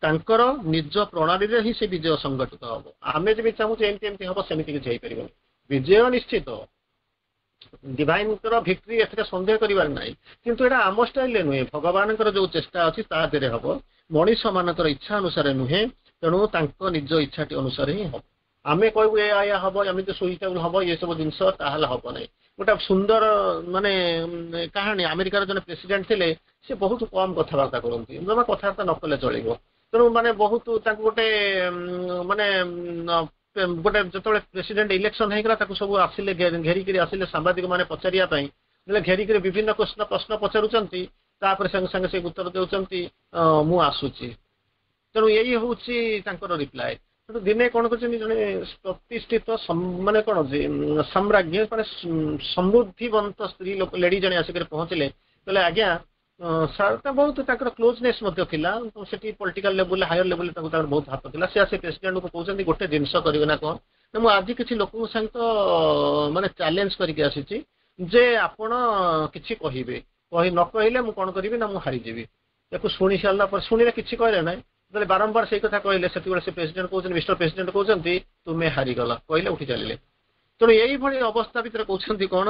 ତାଙ୍କର ନିଜ ପ୍ରଣାଳୀରେ ହିଁ ସେ ବିଜୟ ସଂଗଠିତ ହବ। ଆମେ ଯେମିତି ଚାହୁଁଛେ ଏମିତି ଏମିତି ହବ, ସେମିତି କିଛି ହେଇପାରିବନି। ବିଜୟ ନିଶ୍ଚିତ, ଡିଭାଇନଙ୍କର ଭିକ୍ଟ୍ରି, ଏଥିରେ ସନ୍ଦେହ କରିବାର ନାହିଁ। କିନ୍ତୁ ଏଇଟା ଆମ ଷ୍ଟାଇଲରେ ନୁହେଁ, ଭଗବାନଙ୍କର ଯୋଉ ଚେଷ୍ଟା ଅଛି ତା ଦେହରେ ହବ, ମଣିଷ ମାନଙ୍କର ଇଚ୍ଛା ଅନୁସାରେ ନୁହେଁ। ତେଣୁ ତାଙ୍କ ନିଜ ଇଚ୍ଛାଟି ଅନୁସାରେ ହିଁ ହବ। ଆମେ କହିବୁ ଏଇଆ ଏଇଆ ହବ, ଏମିତି ସୁଇଟେବୁଲ ହବ, ଏସବୁ ଜିନିଷ, ତାହେଲେ ହବ ନାହିଁ। ଗୋଟେ ସୁନ୍ଦର ମାନେ କାହାଣୀ। ଆମେରିକାର ଜଣେ ପ୍ରେସିଡେଣ୍ଟ ଥିଲେ, ସେ ବହୁତ କମ କଥାବାର୍ତ୍ତା କରନ୍ତି, ଜମା କଥାବାର୍ତ୍ତା ନ କଲେ ଚଳିବ। ତେଣୁ ମାନେ ବହୁତ ତାଙ୍କୁ ଗୋଟେ ମାନେ ଗୋଟେ ଯେତେବେଳେ ପ୍ରେସିଡେଣ୍ଟ ଇଲେକ୍ସନ ହେଇଗଲା, ତାକୁ ସବୁ ଆସିଲେ ଘେରିକିରି ଆସିଲେ ସାମ୍ବାଦିକ ମାନେ ପଚାରିବା ପାଇଁ। ଘେରିକିରି ବିଭିନ୍ନ ପ୍ରଶ୍ନ ପ୍ରଶ୍ନ ପଚାରୁଛନ୍ତି, ତାପରେ ସାଙ୍ଗେ ସାଙ୍ଗେ ସେ ଉତ୍ତର ଦେଉଛନ୍ତି, ମୁଁ ଆସୁଛି। ତେଣୁ ଏଇ ହଉଛି ତାଙ୍କର ରିପ୍ଲାଏ। ତେଣୁ ଦିନେ କଣ କରିଛନ୍ତି, ଜଣେ ପ୍ରତିଷ୍ଠିତ ମାନେ କଣ ଯେ ସାମ୍ରାଜ୍ଞ ମାନେ ସମୃଦ୍ଧିବନ୍ତ ସ୍ତ୍ରୀ ଲୋକ, ଲେଡି ଜଣେ ଆସିକରି ପହଞ୍ଚିଲେ। କହିଲେ, ଆଜ୍ଞା ସାର୍, ବହୁତ ତାଙ୍କର କ୍ଲୋଜନେସ୍ ମଧ୍ୟ ଥିଲା ସେଠି, ପଲିଟିକାଲ ଲେବୁଲ, ହାୟର ଲେବୁଲରେ ତାଙ୍କୁ ତାଙ୍କର ବହୁତ ହାତ ଥିଲା। ସେ ଆସି ପ୍ରେସିଡେଣ୍ଟକୁ କହୁଛନ୍ତି, ଗୋଟେ ଜିନିଷ କରିବେ ନା କଣ ନା ମୁଁ ଆଜି କିଛି ଲୋକଙ୍କ ସହିତ ମାନେ ଚ୍ୟାଲେଞ୍ଜ କରିକି ଆସିଛି ଯେ ଆପଣ କିଛି କହିବେ, କହି ନ କହିଲେ ମୁଁ କଣ କରିବି ନା ମୁଁ ହାରିଯିବି। ତାକୁ ଶୁଣି ସାରିଲା ପରେ, ଶୁଣିଲେ, କିଛି କହିଲେ ନାହିଁ। ଯେତେବେଳେ ବାରମ୍ବାର ସେଇ କଥା କହିଲେ, ସେତିକିବେଳେ ସେ ପ୍ରେସିଡେଣ୍ଟ କହୁଛନ୍ତି, ମିଷ୍ଟର ପ୍ରେସିଡେଣ୍ଟ କହୁଛନ୍ତି, ତୁମେ ହାରିଗଲ, କହିଲେ, ଉଠି ଚାଲିଲେ। ତେଣୁ ଏଇଭଳି ଅବସ୍ଥା ଭିତରେ କହୁଛନ୍ତି କଣ,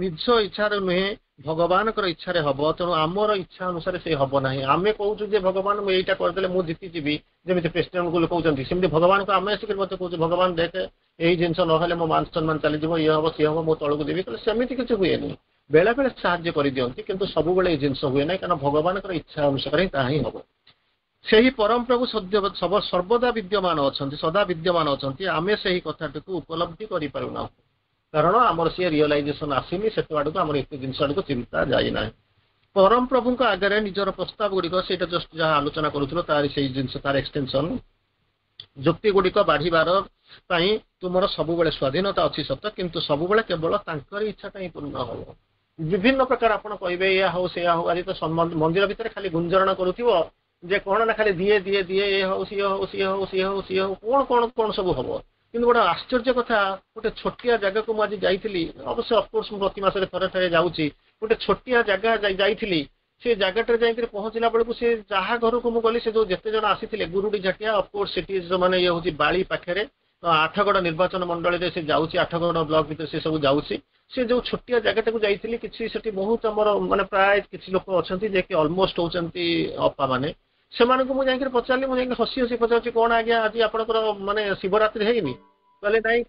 ନିଜ ଇଚ୍ଛାରେ ନୁହେଁ, ଭଗବାନଙ୍କର ଇଚ୍ଛାରେ ହବ। ତେଣୁ ଆମର ଇଚ୍ଛା ଅନୁସାରେ ସେ ହବ ନାହିଁ। ଆମେ କହୁଛୁ ଯେ ଭଗବାନ, ମୁଁ ଏଇଟା କରିଦେଲେ ମୁଁ ଜିତିଯିବି, ଯେମିତି ପ୍ରେସିଡେଣ୍ଟକୁ କହୁଛନ୍ତି, ସେମିତି ଭଗବାନଙ୍କୁ ଆମେ ଆସିକରି ମଧ୍ୟ କହୁଛୁ, ଭଗବାନ ଦେଖେ, ଏଇ ଜିନିଷ ନହେଲେ ମୋ ମାନ ସମ୍ମାନ ଚାଲିଯିବ, ଇଏ ହବ, ସିଏ ହବ, ମୁଁ ତଳକୁ ଯିବି। କହିଲେ ସେମିତି କିଛି ହୁଏନି। ବେଳେ ବେଳେ ସାହାଯ୍ୟ କରିଦିଅନ୍ତି, କିନ୍ତୁ ସବୁବେଳେ ଏଇ ଜିନିଷ ହୁଏ ନାହିଁ, କାରଣ ଭଗବାନଙ୍କର ଇଚ୍ଛା ଅନୁସାରେ ହିଁ ତାହା ହିଁ ହବ। ସେହି ପରମ ପ୍ରଭୁ ସଦ୍ୟ ସର୍ବଦା ବିଦ୍ୟମାନ ଅଛନ୍ତି, ସଦା ବିଦ୍ୟମାନ ଅଛନ୍ତି। ଆମେ ସେହି କଥାଟିକୁ ଉପଲବ୍ଧି କରିପାରୁନାହୁଁ, କାରଣ ଆମର ସିଏ ରିଅଲାଇଜେସନ ଆସିନି ସେତେ ଆଡକୁ, ଆମର ଏତେ ଜିନିଷ ଆଡକୁ ଚିନ୍ତା ଯାଇନାହିଁ। ପରମ ପ୍ରଭୁଙ୍କ ଆଗରେ ନିଜର ପ୍ରସ୍ତାବ ଗୁଡିକ, ସେଇଟା ଜଷ୍ଟ ଯାହା ଆଲୋଚନା କରୁଥିଲ ତାର ସେଇ ଜିନିଷ, ତାର ଏକ୍ସଟେନସନ, ଯୁକ୍ତି ଗୁଡିକ ବାଢିବାର ପାଇଁ ତୁମର ସବୁବେଳେ ସ୍ୱାଧୀନତା ଅଛି ସତ, କିନ୍ତୁ ସବୁବେଳେ କେବଳ ତାଙ୍କର ଇଚ୍ଛାଟା ହିଁ ପୂର୍ଣ୍ଣ ହବ। ବିଭିନ୍ନ ପ୍ରକାର ଆପଣ କହିବେ, ଏଇଆ ହଉ, ସେଇଆ ହଉ। ଆଜି ତ ମନ୍ଦିର ଭିତରେ ଖାଲି ଗୁଞ୍ଜରଣ କରୁଥିବ ଯେ କଣ ନା ଖାଲି ଦିଏ ଦିଏ ଦିଏ, ଏ ହଉ, ସିଏ ହଉ, ସିଏ ହଉ, ସିଏ ହଉ, ସିଏ ହଉ, କଣ କଣ କଣ ସବୁ ହବ। କିନ୍ତୁ ଗୋଟେ ଆଶ୍ଚର୍ଯ୍ୟ କଥା, ଗୋଟେ ଛୋଟିଆ ଜାଗାକୁ ମୁଁ ଆଜି ଯାଇଥିଲି। ଅବଶ୍ୟ ଅଫକୋର୍ସ ମୁଁ ପ୍ରତି ମାସରେ ଥରେ ଥରେ ଯାଉଛି। ଗୋଟେ ଛୋଟିଆ ଜାଗା ଯାଇଥିଲି। ସେ ଜାଗାଟାରେ ଯାଇକରି ପହଞ୍ଚିଲା ବେଳକୁ, ସେ ଯାହା ଘରକୁ ମୁଁ ଗଲି, ସେ ଯୋଉ ଯେତେ ଜଣ ଆସିଥିଲେ, ଗୁରୁଡି ଝାଟିଆ, ଅଫକୋର୍ସ ସେଠି ମାନେ ଇଏ ହଉଛି ବାଳି ପାଖରେ, ଆଠଗଡ଼ ନିର୍ବାଚନ ମଣ୍ଡଳୀରେ ସେ ଯାଉଛି, ଆଠଗଡ଼ ବ୍ଲକ ଭିତରେ ସେ ସବୁ ଯାଉଛି। ସେ ଯୋଉ ଛୋଟିଆ ଜାଗାଟାକୁ ଯାଇଥିଲି, କିଛି ସେଠି ବହୁତ ଆମର ମାନେ ପ୍ରାୟ କିଛି ଲୋକ ଅଛନ୍ତି ଯେ କି ଅଲମୋଷ୍ଟ ହଉଛନ୍ତି ଅପା ମାନେ। ସେମାନଙ୍କୁ ମୁଁ ଯାଇକରି ପଚାରିଲି, ମୁଁ ଯାଇକି ହସି ହସି ପଚାରୁଛି, କଣ ଆଜ୍ଞା, ଆଜି ଆପଣଙ୍କର ମାନେ ଶିବରାତ୍ରି ହେଇନି? କହିଲେ, ନାଇଁ,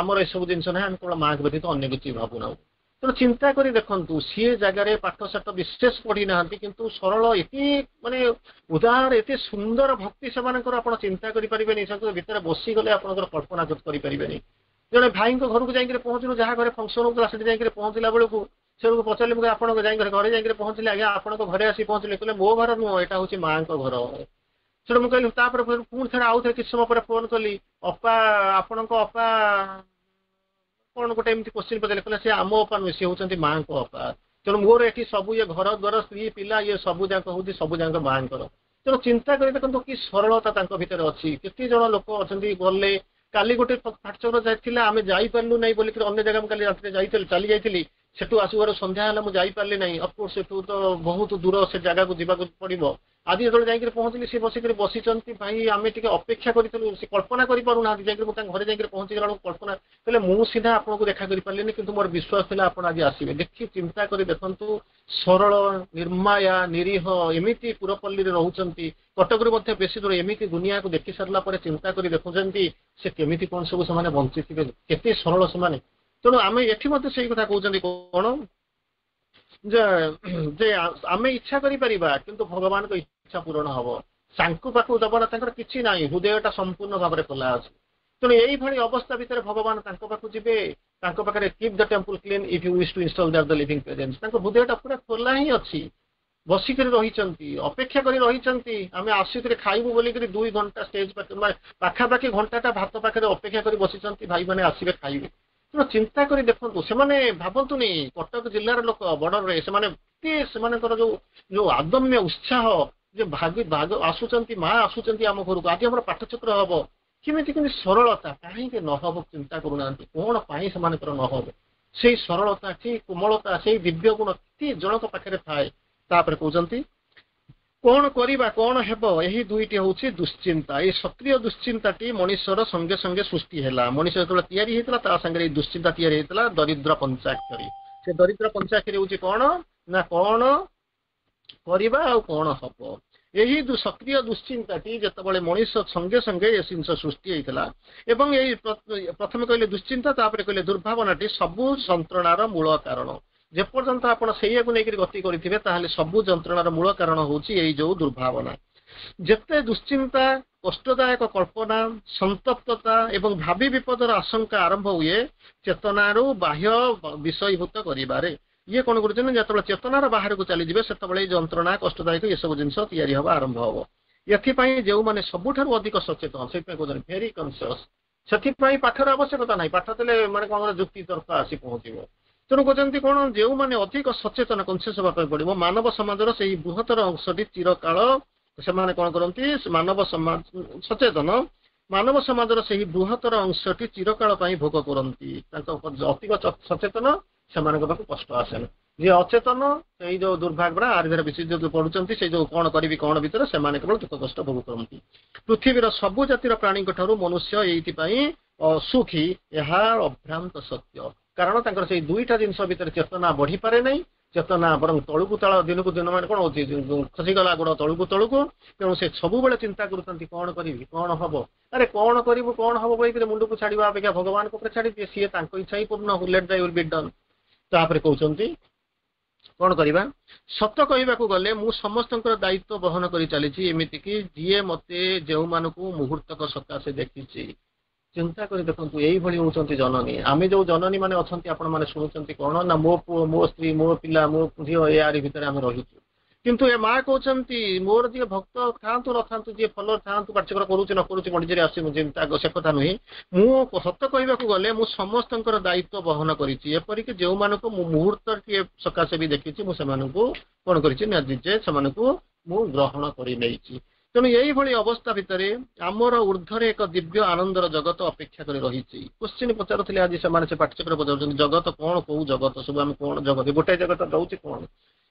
ଆମର ଏସବୁ ଜିନିଷ ନାହିଁ, ଆମେ କେବଳ ମାଆଙ୍କ ବ୍ୟତୀତ ଅନ୍ୟ କିଛି ଭାବୁନାହୁଁ। ତେଣୁ ଚିନ୍ତା କରି ଦେଖନ୍ତୁ, ସିଏ ଜାଗାରେ ପାଠ ସାଠ ବିଶେଷ ପଢି ନାହାନ୍ତି, କିନ୍ତୁ ସରଳ, ଏତେ ମାନେ ଉଦାର, ଏତେ ସୁନ୍ଦର ଭକ୍ତି ସେମାନଙ୍କର, ଆପଣ ଚିନ୍ତା କରିପାରିବେନି। ତାଙ୍କ ଭିତରେ ବସିଗଲେ ଆପଣଙ୍କର କଳ୍ପନା କରିପାରିବେନି। ଜଣେ ଭାଇଙ୍କ ଘରକୁ ଯାଇକରି ପହଞ୍ଚିଲୁ, ଯାହା ଘରେ ଫଙ୍କସନ ହଉଥିଲା, ସେଠି ଯାଇକରି ପହଞ୍ଚିଲା ବେଳକୁ ସେଠୁ ପଚାରିଲି ମୁଁ, ଆପଣଙ୍କ ଯାଇକରି ଘରେ ଯାଇକରି ପହଞ୍ଚିଲେ, ଆଜ୍ଞା ଆପଣଙ୍କ ଘରେ ଆସି ପହଞ୍ଚିଲେ। କହିଲେ, ମୋ ଘର ନୁହଁ, ଏଇଟା ହଉଛି ମାଙ୍କ ଘର। ସେଠୁ ମୁଁ କହିଲି, ତାପରେ ପୁଣି ଥରେ ଆଉ ଥରେ କିଛି ସମୟ ପରେ ଫୋନ କଲି, ଅପା, ଆପଣଙ୍କ ଅପା କଣ ଗୋଟେ ଏମିତି କୋଶ୍ଚିନ୍ ପଚାରିଲେ। କହିଲେ, ସେ ଆମ ଅପା ନୁହେଁ, ସେ ହଉଛନ୍ତି ମାଙ୍କ ଅପା। ତେଣୁ ମୋର ଏଠି ସବୁ ଇଏ ଘର ଦ୍ୱାର, ସ୍ତ୍ରୀ ପିଲା, ଇଏ ସବୁ ଯାକ ହଉଛି ସବୁ ଯାକ ମାଙ୍କର। ତେଣୁ ଚିନ୍ତା କରି ଦେଖନ୍ତୁ କି ସରଳତା ତାଙ୍କ ଭିତରେ ଅଛି। କେତେ ଜଣ ଲୋକ ଅଛନ୍ତି ଗଲେ, କାଲି ଗୋଟେ ଫାଟଚକ୍ର ଯାଇଥିଲା, ଆମେ ଯାଇପାରିଲୁ ନାହିଁ ବୋଲିକିରି ଅନ୍ୟ ଜାଗା ମୁଁ କାଲି ରାତିରେ ଯାଇଥିଲି, ଚାଲି ଯାଇଥିଲି। ସେଠୁ ଆସିବାର ସନ୍ଧ୍ୟା ହେଲା, ମୁଁ ଯାଇପାରିଲି ନାହିଁ। ଅଫକୋର୍ସ ସେଠୁ ତ ବହୁତ ଦୂର, ସେ ଜାଗାକୁ ଯିବାକୁ ପଡିବ। ଆଜି ଯେତେବେଳେ ଯାଇକରି ପହଞ୍ଚିଲି, ସେ ବସିକରି ବସିଛନ୍ତି। ଭାଇ, ଆମେ ଟିକେ ଅପେକ୍ଷା କରିଥିଲୁ। ସେ କଳ୍ପନା କରିପାରୁନାହାନ୍ତି। ଯାଇକରି ମୁଁ ତାଙ୍କ ଘରେ ଯାଇକରି ପହଞ୍ଚିଗଲା ବେଳକୁ କଳ୍ପନା କହିଲେ, ମୁଁ ସିଧା ଆପଣଙ୍କୁ ଦେଖା କରିପାରିଲିନି, କିନ୍ତୁ ମୋର ବିଶ୍ୱାସ ଥିଲା ଆପଣ ଆଜି ଆସିବେ। ଦେଖି ଚିନ୍ତା କରି ଦେଖନ୍ତୁ, ସରଳ, ନିର୍ମାୟା, ନିରୀହ, ଏମିତି ପୁରପଲ୍ଲୀରେ ରହୁଛନ୍ତି, କଟକରୁ ମଧ୍ୟ ବେଶୀ ଦୂର। ଏମିତି ଦୁନିଆକୁ ଦେଖି ସାରିଲା ପରେ ଚିନ୍ତା କରି ଦେଖୁଛନ୍ତି ସେ କେମିତି କଣ ସବୁ ସେମାନେ ବଞ୍ଚିଥିବେ, କେତେ ସରଳ ସେମାନେ। ତେଣୁ ଆମେ ଏଠି ମଧ୍ୟ ସେଇ କଥା କହୁଛନ୍ତି କଣ ଯେ ଯେ ଆମେ ଇଚ୍ଛା କରିପାରିବା, କିନ୍ତୁ ଭଗବାନଙ୍କ ଇଚ୍ଛା ପୂରଣ ହବ। ତାଙ୍କ ପାଖକୁ ଦବ ନା ତାଙ୍କର କିଛି ନାହିଁ, ହୃଦୟଟା ସମ୍ପୂର୍ଣ୍ଣ ଭାବରେ ଖୋଲା ଅଛି। ତେଣୁ ଏଇଭଳି ଅବସ୍ଥା ଭିତରେ ଭଗବାନ ତାଙ୍କ ପାଖକୁ ଯିବେ ତାଙ୍କ ପାଖରେ keep the temple clean if you wish to install there the living presence ତାଙ୍କ ହୃଦୟଟା ପୁରା ଖୋଲା ହିଁ ଅଛି ବସିକରି ରହିଛନ୍ତି ଅପେକ୍ଷା କରି ରହିଛନ୍ତି ଆମେ ଆସିକରି ଖାଇବୁ ବୋଲିକରି ଦୁଇ ଘଣ୍ଟା ଷ୍ଟେଜ ପାଖରେ ପାଖାପାଖି ଘଣ୍ଟାଟା ଭାତ ପାଖରେ ଅପେକ୍ଷା କରି ବସିଛନ୍ତି ଭାଇମାନେ ଆସିବେ ଖାଇବେ ତେଣୁ ଚିନ୍ତା କରି ଦେଖନ୍ତୁ ସେମାନେ ଭାବନ୍ତୁନି କଟକ ଜିଲ୍ଲାର ଲୋକ ବର୍ଡରରେ ସେମାନେ କେତେ ସେମାନଙ୍କର ଯୋଉ ଯୋଉ ଆଦମ୍ୟ ଉତ୍ସାହ ଯେ ଭାଗି ଭାଗ ଆସୁଛନ୍ତି ମା ଆସୁଛନ୍ତି ଆମ ଘରକୁ ଆଜି ଆମର ପାଠଚକ୍ର ହବ କେମିତି କେମିତି ସରଳତା କାହିଁକି ନ ହବ ଚିନ୍ତା କରୁନାହାନ୍ତି କଣ ପାଇଁ ସେମାନଙ୍କର ନ ହବ ସେଇ ସରଳତା ସେଇ କୋମଳତା ସେଇ ଦିବ୍ୟ ଗୁଣ କେତେ ଜଣଙ୍କ ପାଖରେ ଥାଏ ତାପରେ କହୁଛନ୍ତି କଣ କରିବା କଣ ହେବ ଏହି ଦୁଇଟି ହଉଛି ଦୁଶ୍ଚିନ୍ତା ଏଇ ସକ୍ରିୟ ଦୁଶ୍ଚିନ୍ତାଟି ମଣିଷର ସଙ୍ଗେ ସଙ୍ଗେ ସୃଷ୍ଟି ହେଲା ମଣିଷ ଯେତେବେଳେ ତିଆରି ହେଇଥିଲା ତା ସାଙ୍ଗରେ ଏଇ ଦୁଶ୍ଚିନ୍ତା ତିଆରି ହେଇଥିଲା ଦରିଦ୍ର ପଞ୍ଚାକ୍ଷରୀ ସେ ଦରିଦ୍ର ପଞ୍ଚାକ୍ଷରୀ ହଉଛି କଣ ନା କଣ କରିବା ଆଉ କଣ ହବ ଏହି ସକ୍ରିୟ ଦୁଶ୍ଚିନ୍ତାଟି ଯେତେବେଳେ ମଣିଷ ସଙ୍ଗେ ସଙ୍ଗେ ଏ ଜିନିଷ ସୃଷ୍ଟି ହେଇଥିଲା ଏବଂ ଏଇ ପ୍ରଥମେ କହିଲେ ଦୁଶ୍ଚିନ୍ତା ତାପରେ କହିଲେ ଦୁର୍ଭାବନାଟି ସବୁ ଯନ୍ତ୍ରଣାର ମୂଳ କାରଣ ଯେପର୍ଯ୍ୟନ୍ତ ଆପଣ ସେଇଆକୁ ନେଇକରି ଗତି କରିଥିବେ ତାହେଲେ ସବୁ ଯନ୍ତ୍ରଣାର ମୂଳ କାରଣ ହଉଛି ଏଇ ଯୋଉ ଦୁର୍ଭାବନା ଯେତେ ଦୁଶ୍ଚିନ୍ତା କଷ୍ଟଦାୟକ କଳ୍ପନା ସନ୍ତପ୍ତତା ଏବଂ ଭାବି ବିପଦର ଆଶଙ୍କା ଆରମ୍ଭ ହୁଏ ଚେତନାରୁ ବାହ୍ୟ ବିଷୟୀଭୂତ କରିବାରେ ଇଏ କଣ କରୁଛନ୍ତି ଯେତେବେଳେ ଚେତନାର ବାହାରକୁ ଚାଲିଯିବେ ସେତେବେଳେ ଏଇ ଯନ୍ତ୍ରଣା କଷ୍ଟଦାୟକ ଏସବୁ ଜିନିଷ ତିଆରି ହବା ଆରମ୍ଭ ହବ ଏଥିପାଇଁ ଯେଉଁମାନେ ସବୁଠାରୁ ଅଧିକ ସଚେତନ ସେଥିପାଇଁ କହୁଛନ୍ତି ଭେରି କନସିୟସ ସେଥିପାଇଁ ପାଠର ଆବଶ୍ୟକତା ନାହିଁ ପାଠ ଥିଲେ ମାନେ କଣ ଯୁକ୍ତି ତର୍କ ଆସି ପହଞ୍ଚିବ ତେଣୁ କହୁଛନ୍ତି କଣ ଯେଉଁମାନେ ଅଧିକ ସଚେତନ କନସିୟସ ହେବା ପାଇଁ ପଡିବ ମାନବ ସମାଜର ସେଇ ବୃହତ୍ତର ଅଂଶଟି ଚିରକାଳ ସେମାନେ କଣ କରନ୍ତି ମାନବ ସମାଜ ସଚେତନ ମାନବ ସମାଜର ସେହି ବୃହତ୍ତର ଅଂଶଟି ଚିରକାଳ ପାଇଁ ଭୋଗ କରନ୍ତି ତାଙ୍କ ଅଧିକ ସଚେତନ ସେମାନଙ୍କ ପାଖକୁ କଷ୍ଟ ଆସେନି ଯିଏ ଅଚେତନ ସେଇ ଯୋଉ ଦୁର୍ଭାଗ୍ୟ ଆରି ଧର ବେଶୀ ଯୋଉ ପଢୁଛନ୍ତି ସେଇ ଯୋଉ କଣ କରିବି କଣ ଭିତରେ ସେମାନେ କେବଳ ଦୁଃଖ କଷ୍ଟ ଭୋଗ କରନ୍ତି ପୃଥିବୀର ସବୁ ଜାତିର ପ୍ରାଣୀଙ୍କ ଠାରୁ ମନୁଷ୍ୟ ଏଇଥିପାଇଁ ଅସୁଖୀ ଏହା ଅଭ୍ରାନ୍ତ ସତ୍ୟ କାରଣ ତାଙ୍କର ସେଇ ଦୁଇଟା ଜିନିଷ ଭିତରେ ଚେତନା ବଢିପାରେ ନାହିଁ ଚେତନା ବରଂ ତଳକୁ ତଳ ଦିନକୁ ଦିନ ମାନେ କଣ ହଉଛି ଖସିଗଲା ଗୋଡ ତଳକୁ ତଳକୁ ତେଣୁ ସେ ସବୁବେଳେ ଚିନ୍ତା କରୁଛନ୍ତି କଣ କରିବି କଣ ହବ ଆରେ କଣ କରିବୁ କଣ ହବ କହିକିରି ମୁଣ୍ଡକୁ ଛାଡିବା ଅପେକ୍ଷା ଭଗବାନଙ୍କ ଉପରେ ଛାଡିଦିଏ ସିଏ ତାଙ୍କ ଇଚ୍ଛା ହିଁ ପୂର୍ଣ୍ଣ let thy will be done ତାପରେ କହୁଛନ୍ତି କଣ କରିବା ସତ କହିବାକୁ ଗଲେ ମୁଁ ସମସ୍ତଙ୍କର ଦାୟିତ୍ୱ ବହନ କରି ଚାଲିଛି ଏମିତିକି ଯିଏ ମତେ ଯେଉଁମାନଙ୍କୁ ମୁହୂର୍ତ୍ତକ ସକାଶେ ଦେଖିଛି ଚିନ୍ତା କରି ଦେଖନ୍ତୁ ଏଇଭଳି ହଉଛନ୍ତି ଜନନୀ ଆମେ ଯୋଉ ଜନନୀ ମାନେ ଅଛନ୍ତି ଆପଣ ମାନେ ଶୁଣୁଛନ୍ତି କଣ ନା ମୋ ପୁଅ ମୋ ସ୍ତ୍ରୀ ମୋ ପିଲା ମୋ ଝିଅ ଏଆରି ଭିତରେ ଆମେ ରହିଛୁ କିନ୍ତୁ ଏ ମା କହୁଛନ୍ତି ମୋର ଯିଏ ଭକ୍ତ ଥାଆନ୍ତୁ ନଥାନ୍ତୁ ଯିଏ ଫଲୋଅର ଥାଆନ୍ତୁ ପାଠଚକ୍ର କରୁଛି ନ କରୁଛି ପଣ୍ଡିଚେରୀ ଆସୁଛି ମୁଁ ଚିନ୍ତା ସେ କଥା ନୁହେଁ ମୁଁ ସତ କହିବାକୁ ଗଲେ ମୁଁ ସମସ୍ତଙ୍କର ଦାୟିତ୍ୱ ବହନ କରିଛି ଏପରିକି ଯେଉଁମାନଙ୍କୁ ମୁଁ ମୁହୂର୍ତ୍ତଟିଏ ସକାଶେ ବି ଦେଖିଛି ମୁଁ ସେମାନଙ୍କୁ କଣ କରିଛି ନା ନିଜେ ସେମାନଙ୍କୁ ମୁଁ ଗ୍ରହଣ କରି ନେଇଛି ତେଣୁ ଏଇଭଳି ଅବସ୍ଥା ଭିତରେ ଆମର ଉର୍ଦ୍ଧ୍ୱରେ ଏକ ଦିବ୍ୟ ଆନନ୍ଦର ଜଗତ ଅପେକ୍ଷା କରି ରହିଛି କୋଶ୍ଚିନ୍ ପଚାରୁଥିଲେ ଆଜି ସେମାନେ ସେ ପାଠଚକ୍ର ପଚାରୁଛନ୍ତି ଜଗତ କଣ କୋଉ ଜଗତ ସବୁ ଆମେ କଣ ଜଗତ ଗୋଟାଏ ଜଗତ ରହୁଛି କଣ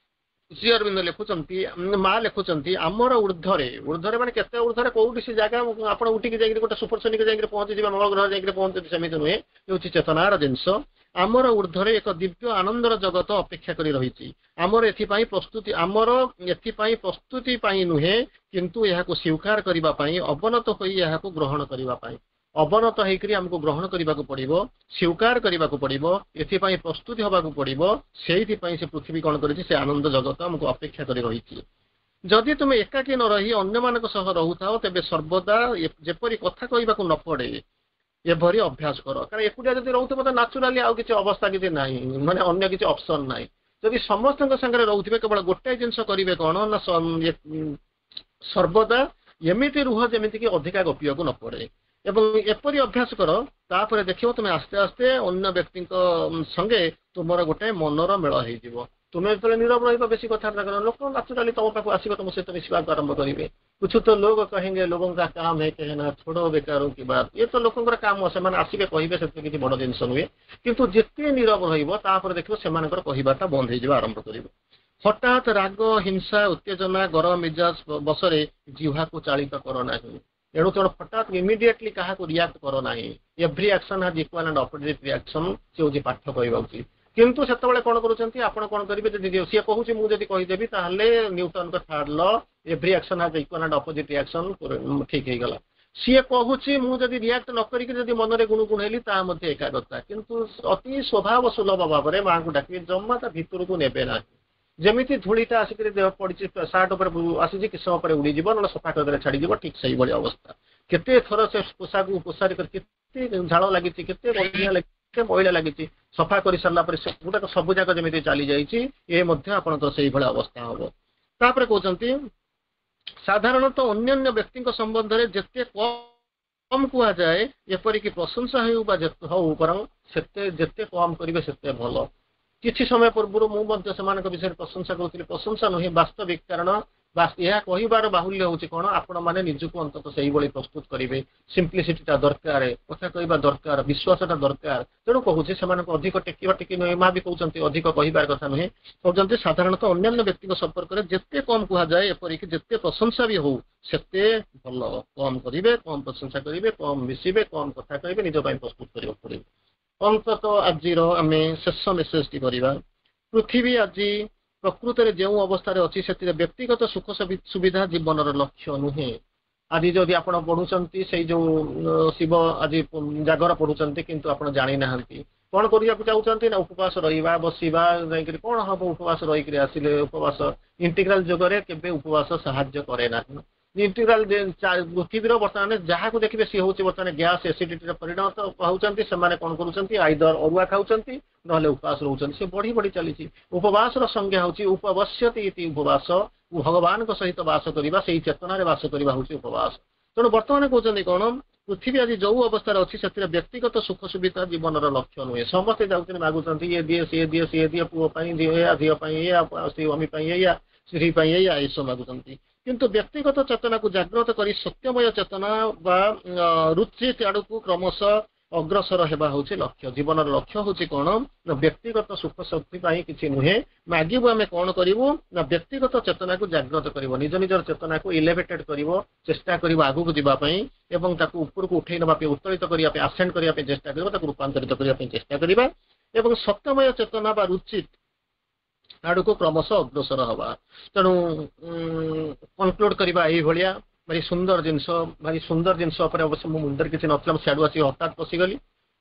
ଶ୍ରୀ ଅରବିନ୍ଦ ଲେଖୁଛନ୍ତି ମା ଲେଖୁଛନ୍ତି ଆମର ଉର୍ଦ୍ଧ୍ୱରେ ଉର୍ଦ୍ଧ୍ୱରେ ମାନେ କେତେ ଉର୍ଦ୍ଧ୍ୱରେ କୋଉଠି ସେ ଜାଗା ଆପଣ ଉଠିକି ଯାଇକି ଗୋଟେ ସୁପରସୋନିକ ଯାଇକି ପହଞ୍ଚିଯିବେ ମଙ୍ଗଳ ଗ୍ରହ ଯାଇକି ପହଞ୍ଚନ୍ତି ସେମିତି ନୁହେଁ ହେଉଛି ଚେତନାର ଜିନିଷ ଆମର ଉର୍ଦ୍ଧ୍ୱରେ ଏକ ଦିବ୍ୟ ଆନନ୍ଦର ଜଗତ ଅପେକ୍ଷା କରି ରହିଛି ଆମର ଏଥିପାଇଁ ପ୍ରସ୍ତୁତି ଆମର ଏଥିପାଇଁ ପ୍ରସ୍ତୁତି ପାଇଁ ନୁହେଁ କିନ୍ତୁ ଏହାକୁ ସ୍ୱୀକାର କରିବା ପାଇଁ ଅବନତ ହୋଇ ଏହାକୁ ଗ୍ରହଣ କରିବା ପାଇଁ ଅବନତ ହେଇକରି ଆମକୁ ଗ୍ରହଣ କରିବାକୁ ପଡିବ ସ୍ୱୀକାର କରିବାକୁ ପଡିବ ଏଥିପାଇଁ ପ୍ରସ୍ତୁତି ହବାକୁ ପଡିବ ସେଇଥିପାଇଁ ସେ ପୃଥିବୀ କଣ କରିଛି ସେ ଆନନ୍ଦ ଜଗତ ଆମକୁ ଅପେକ୍ଷା କରି ରହିଛି ଯଦି ତୁମେ ଏକାକୀ ନ ରହି ଅନ୍ୟମାନଙ୍କ ସହ ରହୁଥାଅ ତେବେ ସର୍ବଦା ଯେପରି କଥା କହିବାକୁ ନ ପଡେ ଏଭଳି ଅଭ୍ୟାସ କର କାରଣ ଏକୁଟିଆ ଯଦି ରହୁଥିବ ତ ନାଚୁରାଲି ଆଉ କିଛି ଅବସ୍ଥା କିଛି ନାହିଁ ମାନେ ଅନ୍ୟ କିଛି ଅପସନ ନାହିଁ ଯଦି ସମସ୍ତଙ୍କ ସାଙ୍ଗରେ ରହୁଥିବେ କେବଳ ଗୋଟାଏ ଜିନିଷ କରିବେ କଣ ନା ସର୍ବଦା ଏମିତି ରୁହ ଯେମିତିକି ଅଧିକା ଗପିବାକୁ ନ ପଡେ ଏବଂ ଏପରି ଅଭ୍ୟାସ କର ତାପରେ ଦେଖିବ ତୁମେ ଆସ୍ତେ ଆସ୍ତେ ଅନ୍ୟ ବ୍ୟକ୍ତିଙ୍କ ସଙ୍ଗେ ତୁମର ଗୋଟେ ମନର ମେଳ ହେଇଯିବ ତୁମେ ଯେତେବେଳେ ନିରବ ରହିବ ବେଶୀ କଥାବାର୍ତ୍ତା କର ଲୋକ ନାଚୁରାଲି ତମ ପାଖକୁ ଆସିବେ ତମ ସହିତ ମିଶିବାକୁ ଆରମ୍ଭ କରିବେ कुछ तो लोग कहेंगे लोगों का काम है कहना छोड़ो बेकारों की बात ଇଏ ତ ଲୋକଙ୍କର କାମ ସେମାନେ ଆସିବେ କହିବେ ସେଥିରେ କିଛି ବଡ ଜିନିଷ ନୁହେଁ କିନ୍ତୁ ଯେତେ ନିରବ ରହିବ ତାପରେ ଦେଖିବ ସେମାନଙ୍କର କହିବାଟା ବନ୍ଦ ହେଇଯିବା ଆରମ୍ଭ କରିବ ହଠାତ୍ ରାଗ ହିଂସା ଉତ୍ତେଜନା ଗରମ ମିଜାଜ ବଶରେ ଜିହ୍ୱାକୁ ଚାଳିତ କର ନାହିଁ ଏଣୁ ତେଣୁ ହଠାତ୍ ଇମିଡିଏଟଲି କାହାକୁ ରିଆକ୍ଟ କର ନାହିଁ every action has equal and opposite reaction ସେ ହଉଛି ପାଠ କହିବା ଉଚିତ କିନ୍ତୁ ସେତେବେଳେ କଣ କରୁଛନ୍ତି ଆପଣ କଣ କରିବେ ଯଦି ସିଏ କହୁଛି ମୁଁ ଯଦି କହିଦେବି ତାହେଲେ ନ୍ୟୁଟନଙ୍କ third law every action has equal and opposite reaction ଠିକ ହେଇଗଲା ସିଏ କହୁଛି ମୁଁ ଯଦି ରିଆକ୍ଟ ନ କରିକି ଯଦି ମନରେ ଗୁଣୁ ଗୁଣ ହେଲି ତାହା ମଧ୍ୟ ଏକାଗ୍ରତା କିନ୍ତୁ ଅତି ସ୍ୱଭାବ ସୁଲଭ ଭାବରେ ମାଙ୍କୁ ଡାକିବେ ଜମା ତା ଭିତରକୁ ନେବେ ନାହିଁ ଯେମିତି ଧୂଳିଟା ଆସିକରି ଦେହ ପଡିଛି ସାର୍ଟ ଉପରେ ଆସିଛି କିଛି ସମୟ ପରେ ଉଡ଼ିଯିବ ନହେଲେ ସଫା କରିଦେଲେ ଛାଡିଯିବ ଠିକ ସେଇଭଳି ଅବସ୍ଥା କେତେ ଥର ସେ ପୋଷାକକୁ ପୋଷାରି କରି କେତେ ଝାଳ ଲାଗିଛି କେତେ ଅଳିଆ ଲାଗିଛି କେତେ ମଇଳା ଲାଗିଛି ସଫା କରି ସାରିଲା ପରେ ସେଗୁଡାକ ସବୁ ଯାକ ଯେମିତି ଚାଲି ଯାଇଛି ଏ ମଧ୍ୟ ଆପଣଙ୍କର ସେଇଭଳିଆ ଅବସ୍ଥା ହବ ତାପରେ କହୁଛନ୍ତି ସାଧାରଣତଃ ଅନ୍ୟାନ୍ୟ ବ୍ୟକ୍ତିଙ୍କ ସମ୍ବନ୍ଧରେ ଯେତେ କମ କୁହାଯାଏ ଏପରିକି ପ୍ରଶଂସା ହେଉ ବା ହଉ ବରଂ ସେତେ ଯେତେ କମ କରିବେ ସେତେ ଭଲ କିଛି ସମୟ ପୂର୍ବରୁ ମୁଁ ମଧ୍ୟ ସେମାନଙ୍କ ବିଷୟରେ ପ୍ରଶଂସା କରୁଥିଲି ପ୍ରଶଂସା ନୁହେଁ ବାସ୍ତବିକ କାରଣ ଏହା କହିବାର ବାହୁଲ୍ୟ ହଉଛି କଣ ଆପଣମାନେ ନିଜକୁ ଅନ୍ତତଃ ସେଇଭଳି ପ୍ରସ୍ତୁତ କରିବେ ସିମ୍ପ୍ଲିସିଟିଟା ଦରକାର କଥା କହିବା ଦରକାର ବିଶ୍ୱାସଟା ଦରକାର ତେଣୁ କହୁଛି ସେମାନଙ୍କୁ ଅଧିକ ଟେକିବା ଟେକି ନୁହେଁ ମା ବି କହୁଛନ୍ତି ଅଧିକ କହିବାର କଥା ନୁହେଁ କହୁଛନ୍ତି ସାଧାରଣତଃ ଅନ୍ୟାନ୍ୟ ବ୍ୟକ୍ତିଙ୍କ ସମ୍ପର୍କରେ ଯେତେ କମ କୁହାଯାଏ ଏପରିକି ଯେତେ ପ୍ରଶଂସା ବି ହଉ ସେତେ ଭଲ କମ କରିବେ କମ ପ୍ରଶଂସା କରିବେ କମ ମିଶିବେ କମ କଥା କହିବେ ନିଜ ପାଇଁ ପ୍ରସ୍ତୁତ କରିବାକୁ ପଡିବ ଅନ୍ତତଃ ଆଜିର ଆମେ ଶେଷ ମେସେଜଟି କରିବା ପୃଥିବୀ ଆଜି ପ୍ରକୃତରେ ଯେଉଁ ଅବସ୍ଥାରେ ଅଛି ସେଥିରେ ବ୍ୟକ୍ତିଗତ ସୁଖ ସୁବିଧା ଜୀବନର ଲକ୍ଷ୍ୟ ନୁହେଁ ଆଜି ଯଦି ଆପଣ ପଢୁଛନ୍ତି ସେଇ ଯୋଉ ଶିବ ଆଜି ଜାଗର ପଢୁଛନ୍ତି କିନ୍ତୁ ଆପଣ ଜାଣିନାହାନ୍ତି କଣ କରିବାକୁ ଚାହୁଁଛନ୍ତି ନା ଉପବାସ ରହିବା ବସିବା ଯାଇକରି କଣ ହବ ଉପବାସ ରହିକରି ଆସିଲେ ଉପବାସ ଇଣ୍ଟିଗ୍ରାଲ ଯୁଗରେ କେବେ ଉପବାସ ସାହାଯ୍ୟ କରେ ନାହିଁ ଇଣ୍ଟିଗ୍ରାଲ ପୃଥିବୀର ବର୍ତ୍ତମାନ ଯାହାକୁ ଦେଖିବେ ସିଏ ହଉଛି ବର୍ତ୍ତମାନ ଗ୍ୟାସ୍ ଏସିଡିଟିରେ ପରିଣତ ହଉଛନ୍ତି ସେମାନେ କଣ କରୁଛନ୍ତି ଆଇଦର ଅରୁଆ ଖାଉଛନ୍ତି ନହେଲେ ଉପବାସ ରହୁଛନ୍ତି ସେ ବଢି ବଢି ଚାଲିଛି ଉପବାସର ସଂଜ୍ଞା ହଉଛି ଉପବସ୍ୟତି ଇତି ଉପବାସ ଭଗବାନଙ୍କ ସହିତ ବାସ କରିବା ସେଇ ଚେତନାରେ ବାସ କରିବା ହଉଛି ଉପବାସ ତେଣୁ ବର୍ତ୍ତମାନ କହୁଛନ୍ତି କଣ ପୃଥିବୀ ଆଜି ଯୋଉ ଅବସ୍ଥାରେ ଅଛି ସେଥିରେ ବ୍ୟକ୍ତିଗତ ସୁଖ ସୁବିଧା ଜୀବନର ଲକ୍ଷ୍ୟ ନୁହେଁ ସମସ୍ତେ ଯାଉଛନ୍ତି ମାଗୁଛନ୍ତି ଇଏ ଦିଏ ସିଏ ଦିଏ ସିଏ ଦିଏ ପୁଅ ପାଇଁ ଏଇଆ ଝିଅ ପାଇଁ ଏଇଆ ସ୍ୱାମୀ ପାଇଁ ଏଇଆ ସ୍ତ୍ରୀ ପାଇଁ ଏଇଆ ଏସବୁ ମାଗୁଛନ୍ତି କିନ୍ତୁ ବ୍ୟକ୍ତିଗତ ଚେତନାକୁ ଜାଗ୍ରତ କରି ସତ୍ୟମୟ ଚେତନା ବା ରୁଚି ଆଡକୁ କ୍ରମଶଃ ଅଗ୍ରସର ହେବା ହଉଛି ଲକ୍ଷ୍ୟ ଜୀବନର ଲକ୍ଷ୍ୟ ହଉଛି କଣ ନା ବ୍ୟକ୍ତିଗତ ସୁଖ ଶକ୍ତି ପାଇଁ କିଛି ନୁହେଁ ମାଗିବୁ ଆମେ କଣ କରିବୁ ନା ବ୍ୟକ୍ତିଗତ ଚେତନାକୁ ଜାଗ୍ରତ କରିବ ନିଜ ନିଜର ଚେତନାକୁ ଇଲେଭେଟେଡ କରିବ ଚେଷ୍ଟା କରିବ ଆଗକୁ ଯିବା ପାଇଁ ଏବଂ ତାକୁ ଉପରକୁ ଉଠେଇ ନେବା ପାଇଁ ଉତ୍ତୋଳିତ କରିବା ପାଇଁ ଆସେଣ୍ଡ କରିବା ପାଇଁ ଚେଷ୍ଟା କରିବ ତାକୁ ରୂପାନ୍ତରିତ କରିବା ପାଇଁ ଚେଷ୍ଟା କରିବା ଏବଂ ସତ୍ୟମୟ ଚେତନା ବା ରୁଚି ଆଡକୁ କ୍ରମଶଃ ଅଗ୍ରସର ହବା ତେଣୁ କନକ୍ଲୁଡ କରିବା ଏଇଭଳିଆ ଭାରି ସୁନ୍ଦର ଜିନିଷ ଭାରି ସୁନ୍ଦର ଜିନିଷ ଉପରେ ଅବଶ୍ୟ ମୋ ମୁଣ୍ଡରେ କିଛି ନଥିଲା ମୁଁ ସିଆଡୁ ଆସିକି ହଠାତ୍ ପଶିଗଲି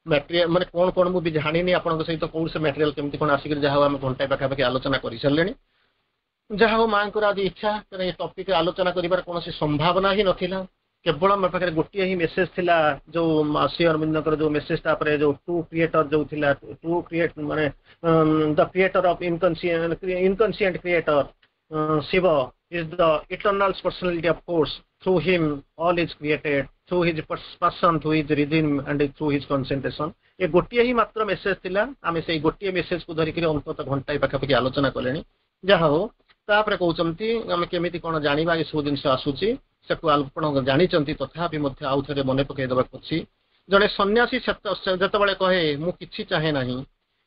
ମ୍ୟାଟେରିଆଲ ମାନେ କଣ କଣ ମୁଁ ବି ଜାଣିନି ଆପଣଙ୍କ ସହିତ କୋଉ ସେ ମ୍ୟାଟେରିଆଲ କେମିତି କଣ ଆସିକରି ଯାହା ହଉ ଆମେ ଘଣ୍ଟାଏ ପାଖାପାଖି ଆଲୋଚନା କରିସାରିଲେଣି ଯାହା ହଉ ମାଙ୍କର ଆଜି ଇଚ୍ଛା କାରଣ ଏ ଟପିକ ଆଲୋଚନା କରିବାର କୌଣସି ସମ୍ଭାବନା ହିଁ ନଥିଲା କେବଳ ମୋ ପାଖରେ ଗୋଟିଏ ହିଁ ମେସେଜ ଥିଲା ଯୋଉ ଶ୍ରୀ ଅରବିନ୍ଦଙ୍କର ଯୋଉ ମେସେଜ ତାପରେ ଯୋଉ ଟୁ କ୍ରିଏଟର ଯୋଉ ଥିଲା ଟୁ କ୍ରିଏଟ ମାନେ the creator of inconscient creator Shiva is the eternal personality of force. Through him all is created. Through his passion, through his rhythm and through his concentration. ଏ ଗୋଟିଏ ହିଁ ମାତ୍ର ମେସେଜ ଥିଲା ଆମେ ସେଇ ଗୋଟିଏ ମେସେଜକୁ ଧରିକିରି ଅନ୍ତତଃ ଘଣ୍ଟାଏ ପାଖାପାଖି ଆଲୋଚନା କଲେଣି ଯାହା ହଉ ତାପରେ କହୁଛନ୍ତି ଆମେ କେମିତି କଣ ଜାଣିବା ଏସବୁ ଜିନିଷ ଆସୁଛି ସେକୁ ଆପଣ ଜାଣିଛନ୍ତି ତଥାପି ମଧ୍ୟ ଆଉ ଥରେ ମନେ ପକେଇ ଦେବାକୁ ଅଛି ଜଣେ ସନ୍ନ୍ୟାସୀ ଯେତେବେଳେ କହେ ମୁଁ କିଛି ଚାହେଁ ନାହିଁ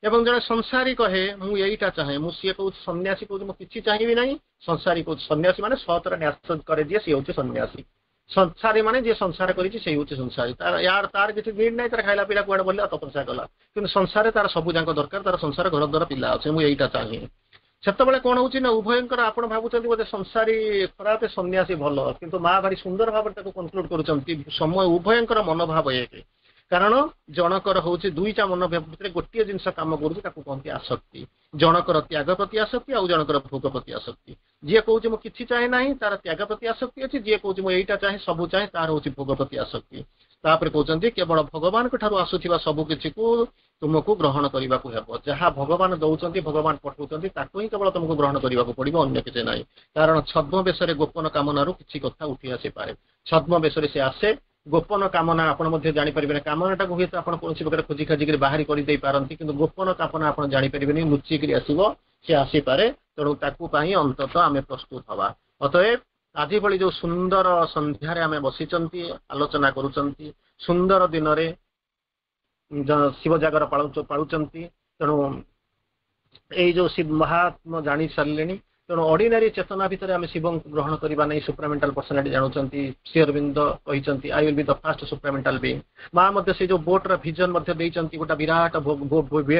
ଏବଂ ଜଣେ ସଂସାରୀ କହେ ମୁଁ ଏଇଟା ଚାହେଁ ମୁଁ ସିଏ କହୁଛି ସନ୍ନ୍ୟାସୀ କହୁଛି ମୁଁ କିଛି ଚାହିଁବି ନାହିଁ ସଂସାରୀ କହୁଛି ସନ୍ନ୍ୟାସୀ ମାନେ ସତରେ ନ୍ୟାସ କରେ ଯିଏ ସିଏ ହଉଛି ସନ୍ନ୍ୟାସୀ ସଂସାରୀ ମାନେ ଯିଏ ସଂସାର କରିଛି ସେଇ ହଉଛି ସଂସାରୀ ତାର ୟାର ତାର କିଛି ନିଡ୍ ନାହିଁ ତାର ଖାଇଲା ପିଇଲା କୁଆଡେ ବୋଲିଲା ତପସ୍ୟା କଲା କିନ୍ତୁ ସଂସାରରେ ତାର ସବୁ ଯାକ ଦରକାର ତାର ସଂସାର ଘର ଦ୍ୱାର ପିଲା ଅଛି ମୁଁ ଏଇଟା ଚାହେଁ ସେତେବେଳେ କଣ ହଉଛି ନା ଉଭୟଙ୍କର ଆପଣ ଭାବୁଛନ୍ତି ବୋଧେ ସଂସାରୀ ଖରାପ ସନ୍ନ୍ୟାସୀ ଭଲ କିନ୍ତୁ ମା ଭାରି ସୁନ୍ଦର ଭାବରେ ତାକୁ କନକ୍ଲୁଡ କରୁଛନ୍ତି ସମୟ ଉଭୟଙ୍କର ମନୋଭାବ ଏକ କାରଣ ଜଣକର ହଉଛି ଦୁଇଟା ମନୋଭାବ ଭିତରେ ଗୋଟିଏ ଜିନିଷ କାମ କରୁଛି ତାକୁ କହନ୍ତି ଆସକ୍ତି ଜଣକର ତ୍ୟାଗ ପ୍ରତି ଆସକ୍ତି ଆଉ ଜଣକର ଭୋଗ ପ୍ରତି ଆସକ୍ତି ଯିଏ କହୁଛି ମୁଁ କିଛି ଚାହେଁ ନାହିଁ ତାର ତ୍ୟାଗ ପ୍ରତି ଆସକ୍ତି ଅଛି ଯିଏ କହୁଛି ମୁଁ ଏଇଟା ଚାହେଁ ସବୁ ଚାହେଁ ତାର ହଉଛି ଭୋଗ ପ୍ରତି ଆସକ୍ତି ତାପରେ କହୁଛନ୍ତି କେବଳ ଭଗବାନଙ୍କ ଠାରୁ ଆସୁଥିବା ସବୁ କିଛିକୁ ତୁମକୁ ଗ୍ରହଣ କରିବାକୁ ହେବ ଯାହା ଭଗବାନ ଦଉଛନ୍ତି ଭଗବାନ ପଠଉଛନ୍ତି ତାକୁ ହିଁ କେବଳ ତୁମକୁ ଗ୍ରହଣ କରିବାକୁ ପଡିବ ଅନ୍ୟ କିଛି ନାହିଁ କାରଣ ଛଦ୍ମବେଶରେ ଗୋପନ କାମନାରୁ କିଛି କଥା ଉଠି ଆସିପାରେ ଛଦ୍ମବେଶରେ ସେ ଆସେ ଗୋପନ କାମନା ଆପଣ ମଧ୍ୟ ଜାଣିପାରିବେନି କାମନାଟାକୁ ହୁଏତ ଆପଣ କୌଣସି ପ୍ରକାର ଖୋଜି ଖାଜିକିରି ବାହାରି କରିଦେଇ ପାରନ୍ତି କିନ୍ତୁ ଗୋପନ କାମନା ଆପଣ ଜାଣିପାରିବେନି ଲୁଚିକିରି ଆସିବ ସେ ଆସିପାରେ ତେଣୁ ତାକୁ ପାଇଁ ଅନ୍ତତଃ ଆମେ ପ୍ରସ୍ତୁତ ହବା ଅତଏବ ଆଜି ଭଳି ଯୋଉ ସୁନ୍ଦର ସନ୍ଧ୍ୟାରେ ଆମେ ବସିଛନ୍ତି ଆଲୋଚନା କରୁଛନ୍ତି ସୁନ୍ଦର ଦିନରେ ଶିବ ଜାଗର ପାଳୁଛନ୍ତି ତେଣୁ ଏଇ ଯୋଉ ଶିବ ମହାତ୍ମା ଜାଣି ସାରିଲେଣି ତେଣୁ ଅର୍ଡିନାରୀ ଚେତନା ଭିତରେ ଆମେ ଶିବଙ୍କୁ ଗ୍ରହଣ କରିବା ନାହିଁ ସୁପ୍ରାମେଣ୍ଟାଲ ପର୍ସନାଲିଟି ଜାଣୁଛନ୍ତି ଶ୍ରୀ ଅରବିନ୍ଦ କହିଛନ୍ତି I will be the first supramental being ମା ମଧ୍ୟ ସେ ଯୋଉ ବୋଟର ଭିଜନ ମଧ୍ୟ ଦେଇଛନ୍ତି ଗୋଟେ ବିରାଟ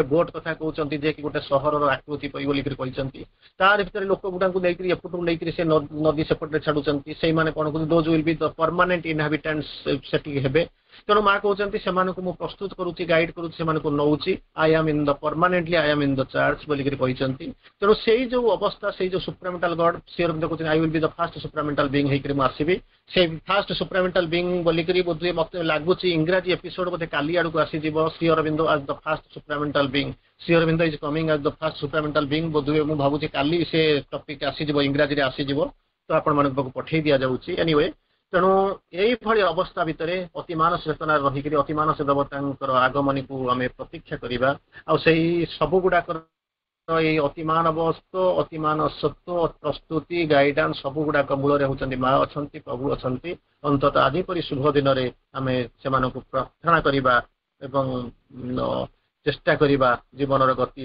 ବୋଟ କଥା କହୁଛନ୍ତି ଯେ କି ଗୋଟେ ସହରର ଆକୃତି ବୋଲିକରି କହିଛନ୍ତି ତାର ଭିତରେ ଲୋକ ଗୁଡାଙ୍କୁ ନେଇକରି ଏପଟୁ ନେଇକରି ସେ ନଦୀ ସେପଟରେ ଛାଡୁଛନ୍ତି ସେଇମାନେ କଣ କରୁଛନ୍ତି those will be the permanent inhabitants ସେଠିକି ହେବେ ତେଣୁ ମା କହୁଛନ୍ତି ସେମାନଙ୍କୁ ମୁଁ ପ୍ରସ୍ତୁତ କରୁଛି ଗାଇଡ୍ କରୁଛି ସେମାନଙ୍କୁ ନଉଛି I am in the permanently I am in the charge ବୋଲିକରି କହିଛନ୍ତି ତେଣୁ ସେଇ ଯୋଉ ଅବସ୍ଥା ସେଇ ଯୋଉ ସୁପ୍ରାମେଣ୍ଟାଲ ଗଡ୍ ଶ୍ରୀ ଅରବିନ୍ଦ କହୁଛନ୍ତି I will be the first supramental being ହେଇକରି ମୁଁ ଆସିବି ସେ ଫାଷ୍ଟ ସୁପ୍ରାମେଣ୍ଟାଲ ବିଙ୍ଗ ବୋଲିକରି ବୋଧହୁଏ ମତେ ଲାଗୁଛି ଇଂରାଜୀ ଏପିସୋଡ ବୋଧେ କାଲି ଆଡକୁ ଆସିଯିବ Sri Aurobindo as the first supramental being Sri Aurobindo is coming as the first supramental being ବୋଧହୁଏ ମୁଁ ଭାବୁଛି କାଲି ସେ ଟପିକ ଆସିଯିବ ଇଂରାଜୀରେ ଆସିଯିବ ତ ଆପଣମାନଙ୍କ ପାଖକୁ ପଠେଇ ଦିଆଯାଉଛି ଏନିୱେ ତେଣୁ ଏଇଭଳି ଅବସ୍ଥା ଭିତରେ ଅତିମାନସ ଚେତନାରେ ରହିକରି ଅତିମାନସ ଦେବତାଙ୍କର ଆଗମନୀକୁ ଆମେ ପ୍ରତୀକ୍ଷା କରିବା ଆଉ ସେଇ ସବୁ ଗୁଡାକର ଏଇ ଅତିମାନବତ୍ୱ ଅତିମାନସତ୍ୱ ପ୍ରସ୍ତୁତି ଗାଇଡାନ୍ସ ସବୁ ଗୁଡାକ ମୂଳରେ ହେଉଛନ୍ତି ମା ଅଛନ୍ତି ପ୍ରଭୁ ଅଛନ୍ତି ଅନ୍ତତଃ ଆଜି ପରି ଶୁଭ ଦିନରେ ଆମେ ସେମାନଙ୍କୁ ପ୍ରାର୍ଥନା କରିବା ଏବଂ ଚେଷ୍ଟା କରିବା ଜୀବନର ଗତି